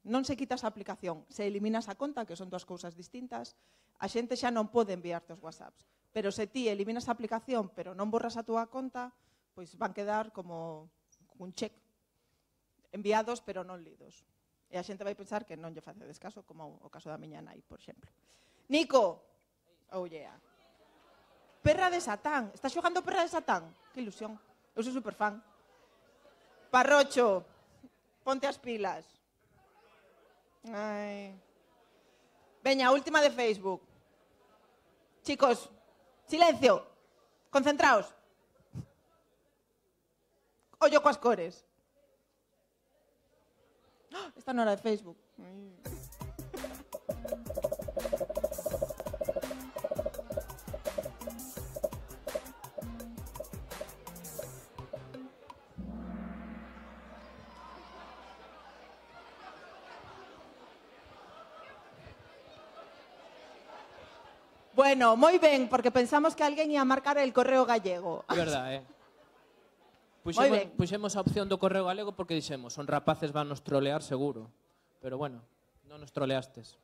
non se quitas a aplicación, se eliminas a conta, que son dúas cousas distintas, a xente xa non pode enviarte os WhatsApps. Pero se ti eliminas a aplicación, pero non borras a túa conta, pois van quedar como un check. Enviados, pero non lidos. E a xente vai pensar que non lle facedes caso, como o caso da miña nai, por exemplo. Nico! Oh, yeah. Perra de Satán. Estás xogando Perra de Satán? Que ilusión. Eu sou superfan. Parrocho, ponte as pilas. Ai. Veña, última de Facebook. Chicos, silencio. Concentraos. Ollo coas cores. Esta non era de Facebook. Bueno, moi ben, porque pensamos que alguén ia marcar el correo gallego. É verdade, Puxemos a opción do correo galego porque dixemos, son rapaces, van nos trolear seguro. Pero bueno, non nos troleastes.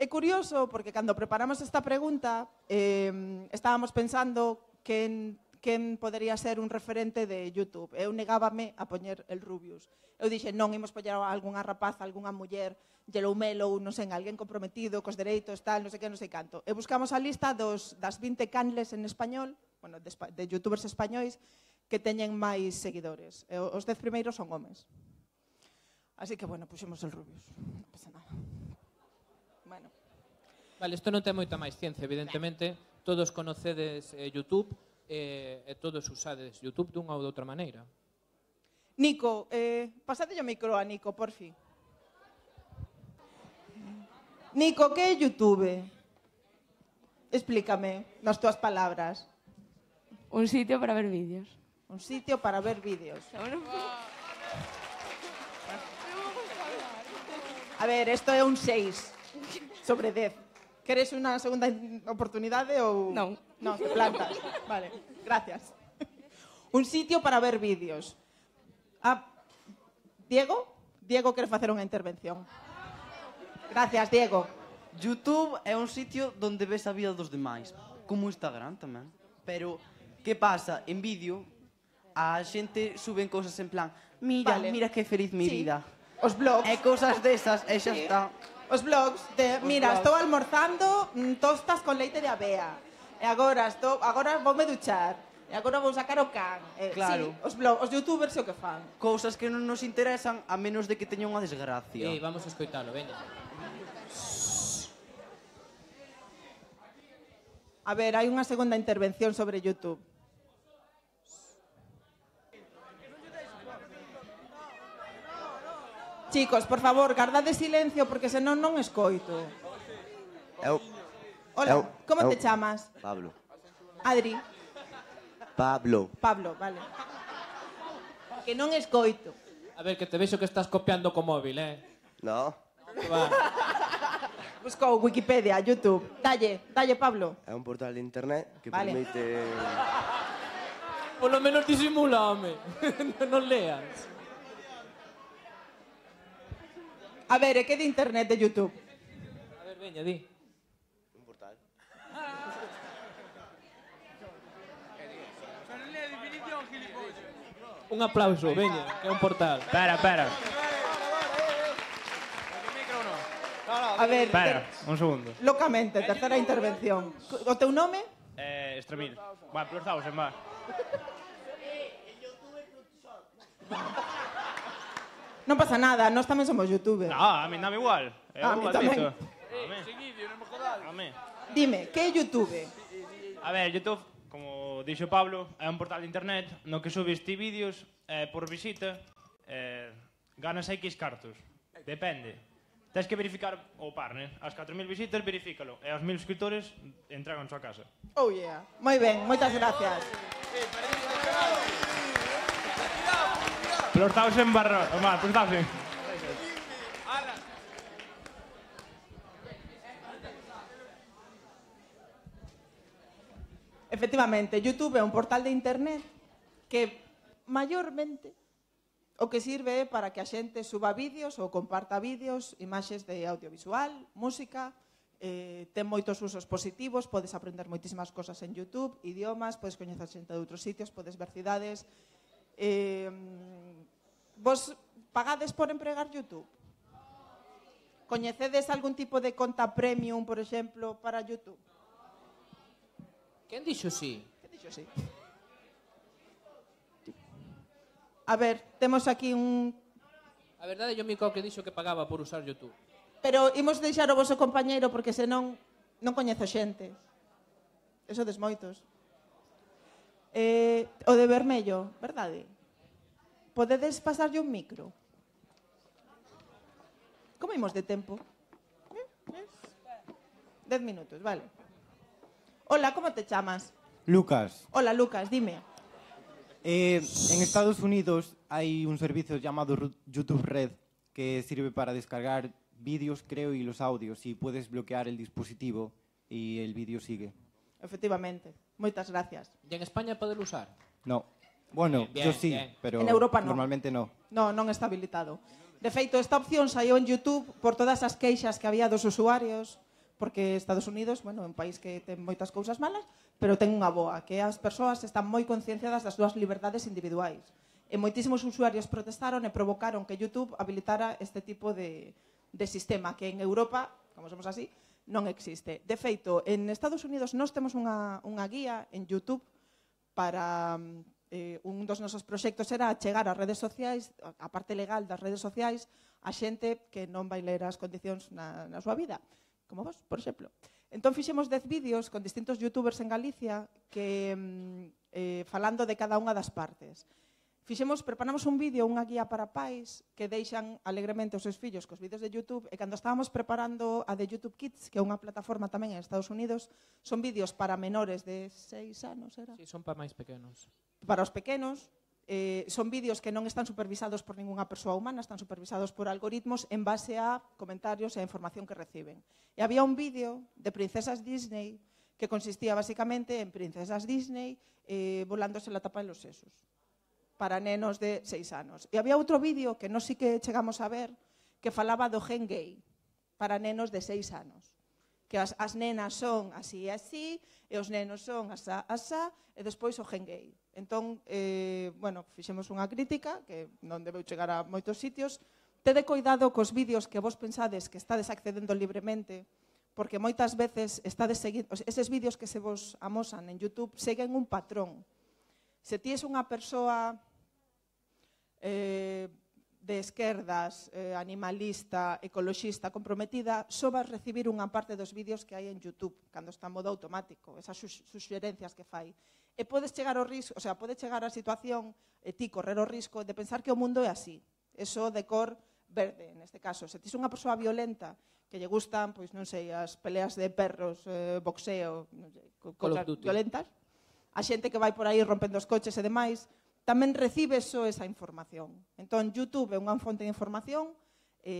É curioso porque cando preparamos esta pregunta estábamos pensando quen podería ser un referente de YouTube. Eu negábame a poñer el Rubius. Eu dixe, non, imos poñer a algunha rapaza, algunha muller, Yellow Mellow, non sei, alguén comprometido cos dereitos, tal, non sei que, non sei canto. E buscamos a lista das 20 canles en español, bueno, de youtubers españois, que teñen máis seguidores. Os 10 primeiros son homes. Así que, bueno, puxemos el Rubius. Non pasa nada. Bueno. Vale, isto non ten moita máis ciencia, evidentemente. Todos conocedes YouTube e todos usades YouTube dunha ou de outra maneira. Nico, pasadelle o micro a Nico, por fin. Nico, que é YouTube? Explícame, nas túas palabras. Un sitio para ver vídeos. Un sitio para ver vídeos. A ver, esto é un 6 sobre 10. Queres unha segunda oportunidade ou... Non. Non, te plantas. Vale, gracias. Un sitio para ver vídeos. Diego? Diego quere facer unha intervención. Gracias, Diego. YouTube é un sitio donde ves a vida dos demais, como Instagram tamén. Pero, que pasa? En vídeo, a xente suben cousas en plan mira, Vale. mira que feliz mi Sí. vida. Os blogs. E cousas desas, e xa Sí. está. Os blogs de, mira, blogs. estou almorzando tostas con leite de avea. E agora voume duchar. E agora vou sacar o can. Claro. Sí, os blogs, os youtubers é o que fan. Cousas que non nos interesan a menos de que teña unha desgracia. Vamos a escoitalo, veña. A ver, hai unha segunda intervención sobre YouTube. Chicos, por favor, gardade silencio porque senón non escoito. Hola, como te chamas? Pablo. Adri. Pablo. Pablo, vale. Que non escoito. A ver, que te vexo que estás copiando co móvil, No, Va. Buscou Wikipedia, YouTube. Dalle, Pablo. é un portal de internet que Vale. permite... Polo menos disimula, home. Non leas. A ver, e que de internet de YouTube? A ver, veña, di. Un portal. Un aplauso, veña, que é un portal. Espera. A ver, Espera, un segundo. locamente, terceira intervención. O teu nome? Estremil. Va, plus 1000, va. Non pasa nada, nós tamén somos youtubers. No, a mí dame igual. A mí tamén. A mí. Dime, que é YouTube? A ver, YouTube, como dixo Pablo, é un portal de internet no que subes ti vídeos por visita, ganas X cartos. Depende. Tens que verificar o partner. As 4000 visitas, verifícalo. E aos 1000 suscriptores, entregan a súa casa. Oh yeah. Moi ben, moitas gracias. Plus 1000 barra... Va, plus 1000. Efectivamente, YouTube é un portal de internet que maiormente o que sirve é para que a xente suba vídeos ou comparta vídeos, imaxes de audiovisual, música, ten moitos usos positivos, podes aprender moitísimas cosas en YouTube, idiomas, podes coñecer xente de outros sitios, podes ver cidades. Vos pagades por empregar YouTube? Coñecedes algún tipo de conta premium, por exemplo, para YouTube? Quen dixo sí? Que dixo sí? A ver, temos aquí un... A verdade, yo Mico que dixo que pagaba por usar YouTube. Pero imos deixar o voso compañeiro porque senón non coñezo xente. Eso des moitos. O de vermello, verdade? Podedes pasarlle un micro? Como imos de tempo? 10 minutos, vale. Hola, como te chamas? Lucas, Hola, Lucas, dime. en Estados Unidos hay un servicio llamado YouTube Red que sirve para descargar vídeos, creo, y los audios, y puedes bloquear el dispositivo y el vídeo sigue. Efectivamente. Moitas gracias. E en España poder usar? No. Bueno, Bien, yo sí, bien. pero En Europa no. normalmente no. No, non está habilitado. De feito, esta opción saiu en YouTube por todas as queixas que había dos usuarios, porque Estados Unidos, bueno, é un país que ten moitas cousas malas, pero ten unha boa, que as persoas están moi concienciadas das súas liberdades individuais. E moitísimos usuarios protestaron e provocaron que YouTube habilitara este tipo de sistema, que en Europa, como somos así, non existe. De feito, en Estados Unidos nós temos unha guía en YouTube para... un dos nosos proxectos era chegar ás redes sociais, a parte legal das redes sociais, a xente que non vai ler as condicións na súa vida, como vos, por exemplo. Entón fixemos 10 vídeos con distintos youtubers en Galicia que falando de cada unha das partes. Preparamos un vídeo, unha guía para pais que deixan alegremente os seus fillos cos vídeos de YouTube, e cando estábamos preparando a de YouTube Kids, que é unha plataforma tamén en Estados Unidos, son vídeos para menores de 6 anos, era? Sí, son para máis pequenos. Para os pequenos, son vídeos que non están supervisados por ningunha persoa humana, están supervisados por algoritmos en base a comentarios e a información que reciben. E había un vídeo de princesas Disney que consistía basicamente en princesas Disney volándose la tapa de los sesos para nenos de 6 anos. E había outro vídeo que non sí que chegamos a ver que falaba do gen gay para nenos de 6 anos. Que as nenas son así e así, e os nenos son asá, asá, e despois o gen gay. Entón, bueno, fixemos unha crítica, que non debeu chegar a moitos sitios. Tede cuidado cos vídeos que vos pensades que estades accedendo libremente, porque moitas veces estades seguindo, eses vídeos que se vos amosan en YouTube seguen un patrón. Se ti es unha persoa de esquerdas, animalista, ecoloxista, comprometida, só vas recibir unha parte dos vídeos que hai en YouTube, cando está en modo automático, esas suxerencias que fai. E podes chegar ao risco, o sea, pode chegar a situación, e ti correr o risco de pensar que o mundo é así, eso de cor verde, neste caso. Se tis unha persoa violenta, que lle gustan, pois non sei, as peleas de perros, boxeo, non sei, cosas violentas, a xente que vai por aí rompendo os coches e demais, tamén recibe só esa información. Entón, YouTube é unha fonte de información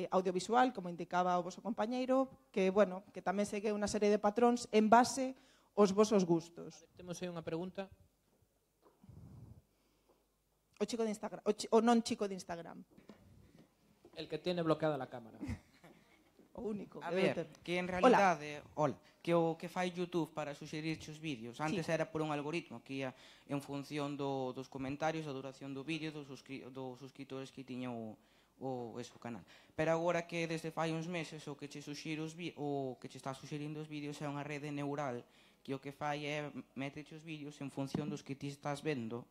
audiovisual, como indicaba o voso compañeiro, que, bueno, que tamén segue unha serie de patróns en base aos vosos gustos. Temos aí unha pregunta. O chico de Instagram, o non chico de Instagram. El que tiene bloqueada la cámara. O único. A ver, que en realidade, hola, que o que fai YouTube para suxerirche os vídeos, antes era por un algoritmo que ia en función dos comentarios, a duración do vídeo, dos suscriptores que tiña o canal. Pero agora que desde fai uns meses o que che suxire o que che está suxerindo os vídeos é unha rede neural que o que fai é meteche os vídeos en función dos que ti estás vendo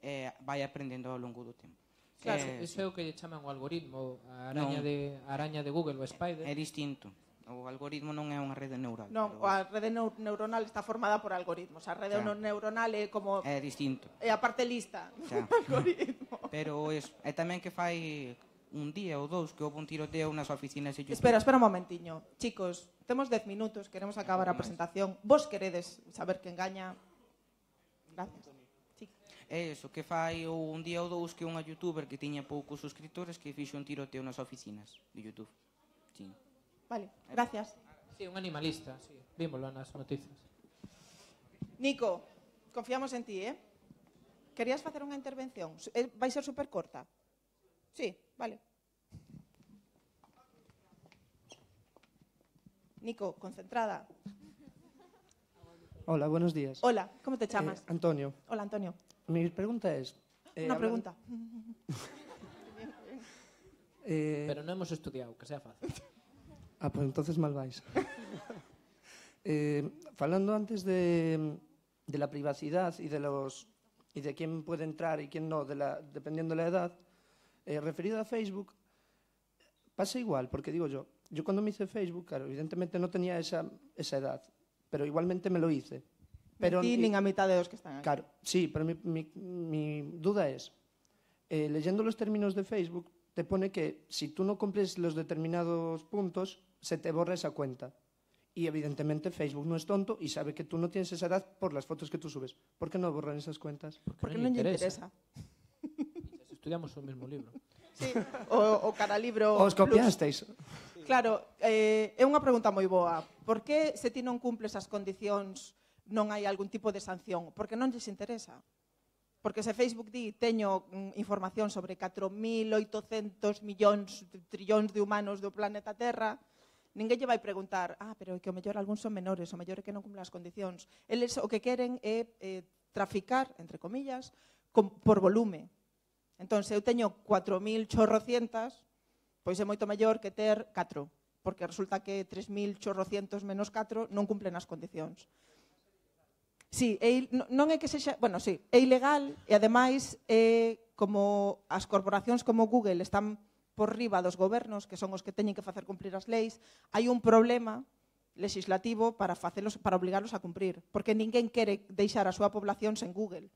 e vai aprendendo ao longo do tempo. Claro, iso é o que lle chaman o algoritmo, a araña de Google, o Spider. É distinto. O algoritmo non é unha rede neural. Non, a rede neuronal está formada por algoritmos. A rede neuronal é como... É distinto. É a parte lista do algoritmo. Pero é tamén que fai un día ou dous que houve un tiroteo nas oficinas de YouTube. Espera un momentiño. Chicos, temos 10 minutos, queremos acabar a presentación. Vos queredes saber quen gaña? Gracias. É iso, que fai un día ou dous que unha youtuber que tiña poucos suscriptores que fixo un tiroteo nas oficinas de YouTube. Sí. Vale, gracias. Sí, un animalista, sí. Vímoslo nas noticias. Nico, confiamos en ti, Querías facer unha intervención? Vai ser super corta? Sí, vale. Nico, concentrada. Hola, buenos días. Hola, ¿cómo te llamas? Antonio. Hola, Antonio. Mi pregunta es... Una pregunta. Pero no hemos estudiado, que sea fácil. Pues entonces mal vais. Falando antes de la privacidad y de quién puede entrar y quién no, dependiendo de la edad, referido a Facebook, pasa igual, porque digo yo cuando me hice Facebook, claro, evidentemente no tenía esa edad, pero igualmente me lo hice. Pero ni a mitad de los que están aquí. Claro, sí, pero mi duda es, leyendo los términos de Facebook, te pone que si tú no cumples los determinados puntos, se te borra esa cuenta. Y evidentemente Facebook no es tonto y sabe que tú no tienes esa edad por las fotos que tú subes. ¿Por qué no borran esas cuentas? Porque no le interesa. Estudiamos o mismo libro. Sí, o cada libro... Os copiasteis. Claro, é unha pregunta moi boa. Por que se ti non cumples as condicións non hai algún tipo de sanción? Porque non lles interesa. Porque se Facebook di teño información sobre 4.800 millóns, trillóns de humanos do planeta Terra, ninguén lle vai preguntar, pero é que o mellor algúns son menores, o mellor é que non cumplen as condicións. Eles o que queren é traficar, entre comillas, por volume. Entón, se eu teño 4.800, pois é moito mellor que ter 4, porque resulta que 3.800 menos 4 non cumplen as condicións. Sí, non é que sexa, bueno, sí, é ilegal e ademais como as corporacións como Google están por riba dos gobernos, que son os que teñen que facer cumprir as leis, hai un problema legislativo para obligarlos a cumprir, porque ninguén quere deixar a súa población sen Google,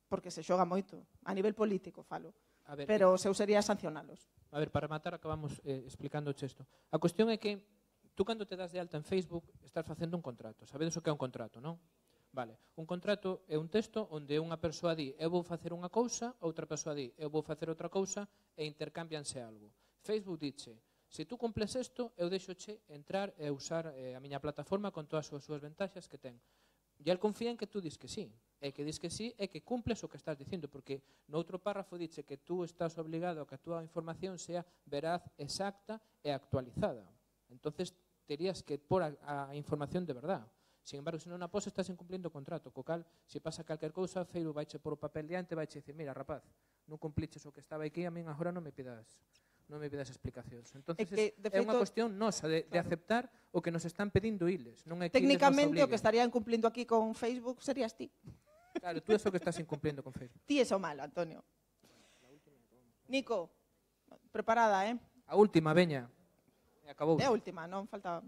porque se xoga moito, a nivel político falo, pero o seu sería sancionalos. A ver, para rematar acabamos explicando isto. A cuestión é que tú cando te das de alta en Facebook estás facendo un contrato, sabedes o que é un contrato, non? Vale, un contrato é un texto onde unha persoa di eu vou facer unha cousa, outra persoa di eu vou facer outra cousa e intercámbianse algo. Facebook dice, Se tú cumples isto, eu deixoche entrar e usar a miña plataforma con todas as súas ventaxas que ten. E el confía en que tú dis que sí. E que dis que sí e que cumples o que estás dicindo, porque no outro párrafo dice que tú estás obligado a que a túa información sea veraz, exacta e actualizada. Entonces, terías que pôr a información de verdad. Sin embargo, se non a pos, estás incumplindo o contrato, co cal, se pasa calquer cousa, Feiro vaiche por o papel diante, vaiche dicir, mira, rapaz, non cumpliches o que estaba aquí, a min agora non me pidas explicacións. Entonces, é unha cuestión nosa de aceptar o que nos están pedindo iles. Non é que Técnicamente, o que estarían cumplindo aquí con Facebook serías ti. Claro, tú é o que estás incumplindo con Facebook. Ti é o malo, Antonio. Nico, preparada, A última, veña. Acabou. É a última, non falta...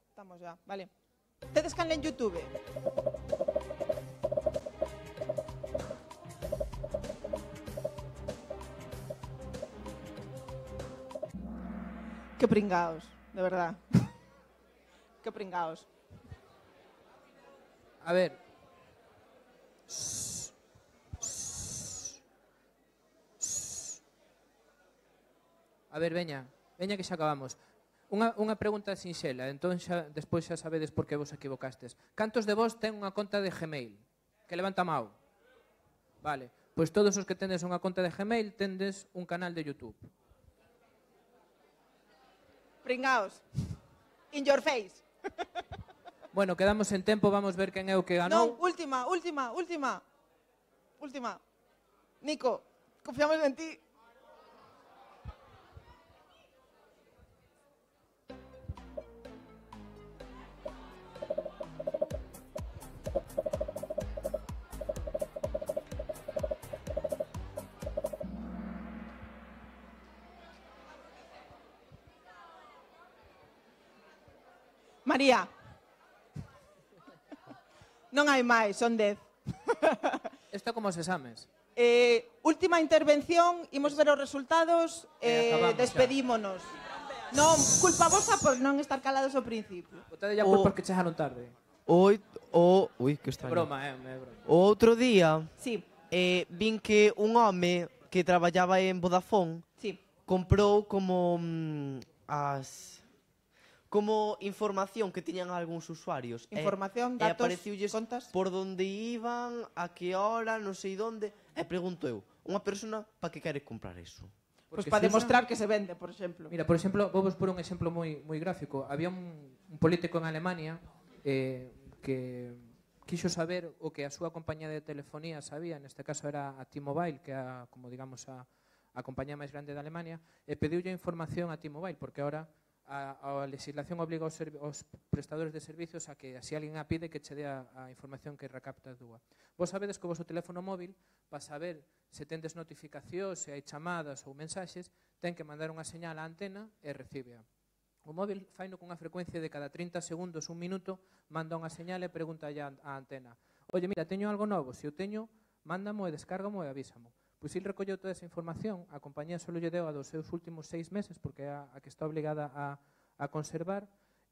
Estamos já, vale. Tedes canle en YouTube? Que pringaos, de verdad. Que pringaos. A ver. A ver, veña que xa acabamos. Unha pregunta sinxela, entón despois xa sabedes por que vos equivocastes. Cantos de vos ten unha conta de Gmail? Que levanta a mão. Vale, pois todos os que tendes unha conta de Gmail tendes un canal de YouTube. Pringaos. In your face. Bueno, quedamos en tempo, vamos ver quen é o que ganou. Non, última. Nico, confiamos en ti. María. Non hai máis, son 10. Isto como os exames. Última intervención, imos ver os resultados, despedímonos. Non, culpa vosa por non estar calados ao principio. Botade ya culpa porque chegaron tarde. Ui, que extraño. Broma, broma. O outro día, sí. Vin que un home que traballaba en Vodafone comprou como como información que tiñan algúns usuarios. Información, datos, contas. Por donde iban, a que hora, non sei onde. E pregunto eu, unha persona para que quere comprar eso? Pois para demostrar que se vende, por exemplo. Mira, por exemplo, vou vos por un exemplo moi gráfico. Había un político en Alemania que quixo saber o que a súa compañía de telefonía sabía, neste caso era a T-Mobile, que é como digamos a compañía máis grande de Alemania, e pediulle información a T-Mobile, porque ahora a legislación obliga aos prestadores de servicios a que, se alguén a pide, que che dé a información que recapta a dúa. Vos sabedes que o vosso teléfono móvil, para saber se tendes notificacións, se hai chamadas ou mensaxes, ten que mandar unha señal á antena e recíbea. O móvil faino cunha frecuencia de cada 30 segundos, un minuto, manda unha señal e pregunta á antena: oye, mira, teño algo novo, se o teño, mándamo e descárgamo e avísamo. Pois il recolleu toda esa información, a compañía só lle deu a dos seus últimos 6 meses, porque é a que está obligada a conservar,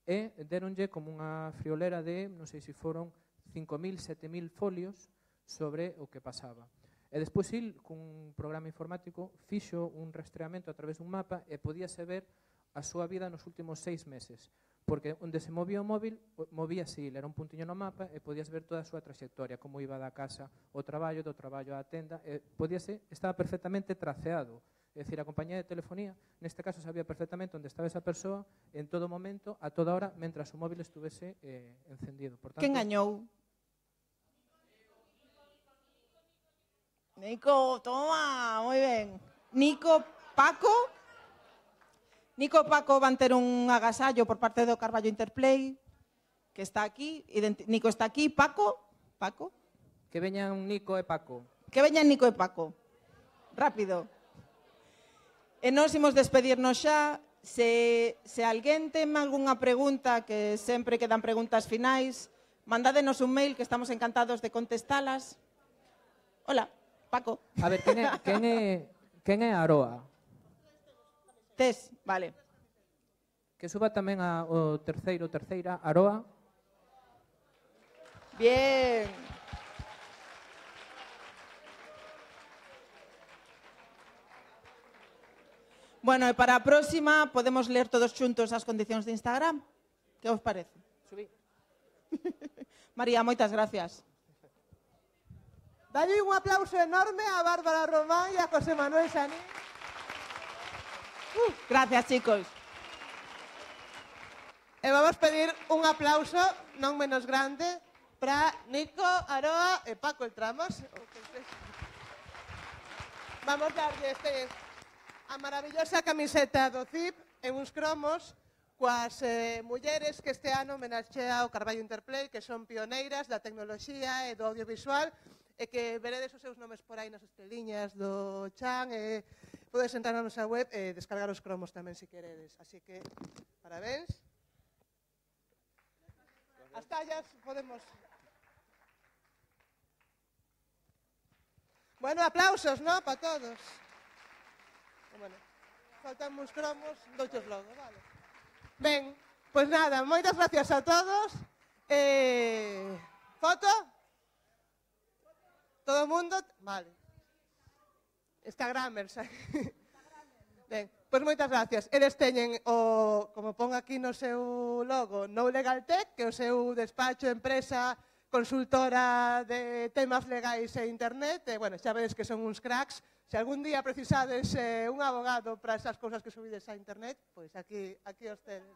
e deronlle como unha friolera de, non sei se foron 5.000, 7.000 folios sobre o que pasaba. E despois il, cun programa informático, fixo un rastreamento a través dun mapa e podíase ver a súa vida nos últimos 6 meses. Porque onde se movía o móvil, movíase il, era un puntiño no mapa e podías ver toda a súa trayectoria, como iba da casa ao traballo, do traballo á tenda, e estaba perfectamente traceado. É dicir, a compañía de telefonía, neste caso, sabía perfectamente onde estaba esa persoa en todo momento, a toda hora, mentras o móvil estuvese encendido. Por tanto, quen gañou? Nico, toma, moi ben. Nico, Paco van ter un agasallo por parte do Carballo Interplay, que está aquí. Nico está aquí. Paco. Que veñan Nico e Paco. Rápido. E nós imos despedirnos xa. Se alguén ten algunha pregunta, que sempre quedan preguntas finais, mandádenos un mail que estamos encantados de contestalas. Hola, Paco. A ver, quen é Aroa? Tes, vale. Que suba tamén o terceira, Aroa. Bien. Bueno, e para a próxima podemos ler todos xuntos as condicións de Instagram. Que vos parece? Subí. María, moitas gracias. Dalle un aplauso enorme a Bárbara Román e a José Manuel Sanín. Gracias, chicos. E vamos pedir un aplauso non menos grande para Nico Aroa e Paco el Tramos. Vamos darlle a maravillosa camiseta do CIP e uns cromos coas mulleres que este ano homenaxea o Carballo Interplay, que son pioneiras da tecnoloxía e do audiovisual, e que veredes os seus nomes por aí nas estreliñas do chan, e podes entrar na nosa web e descargar os cromos tamén se queredes. Así que, parabéns. As tallas podemos... Bueno, aplausos, ¿no? Para todos. Bueno, faltan uns cromos, douchos logo, vale. Ben, pois nada, moitas gracias a todos. Foto? Todo o mundo? Vale. Instagramers. Ben, pois moitas gracias. Eles teñen o, como pon aquí no seu logo, No Legal Tech, que é o seu despacho, empresa, consultora de temas legais e internet. E, bueno, xa vedes que son uns cracks. Se algún día precisades un abogado para esas cousas que subides a internet, pois aquí os tedes.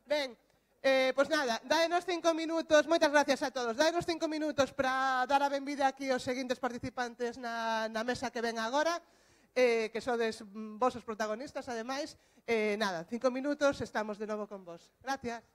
Ben, pois nada, daenos 5 minutos, moitas gracias a todos, daenos 5 minutos para dar a benvida aquí aos seguintes participantes na mesa que ven agora, que sodes vos os protagonistas, ademais. Nada, 5 minutos, estamos de novo con vos. Gracias.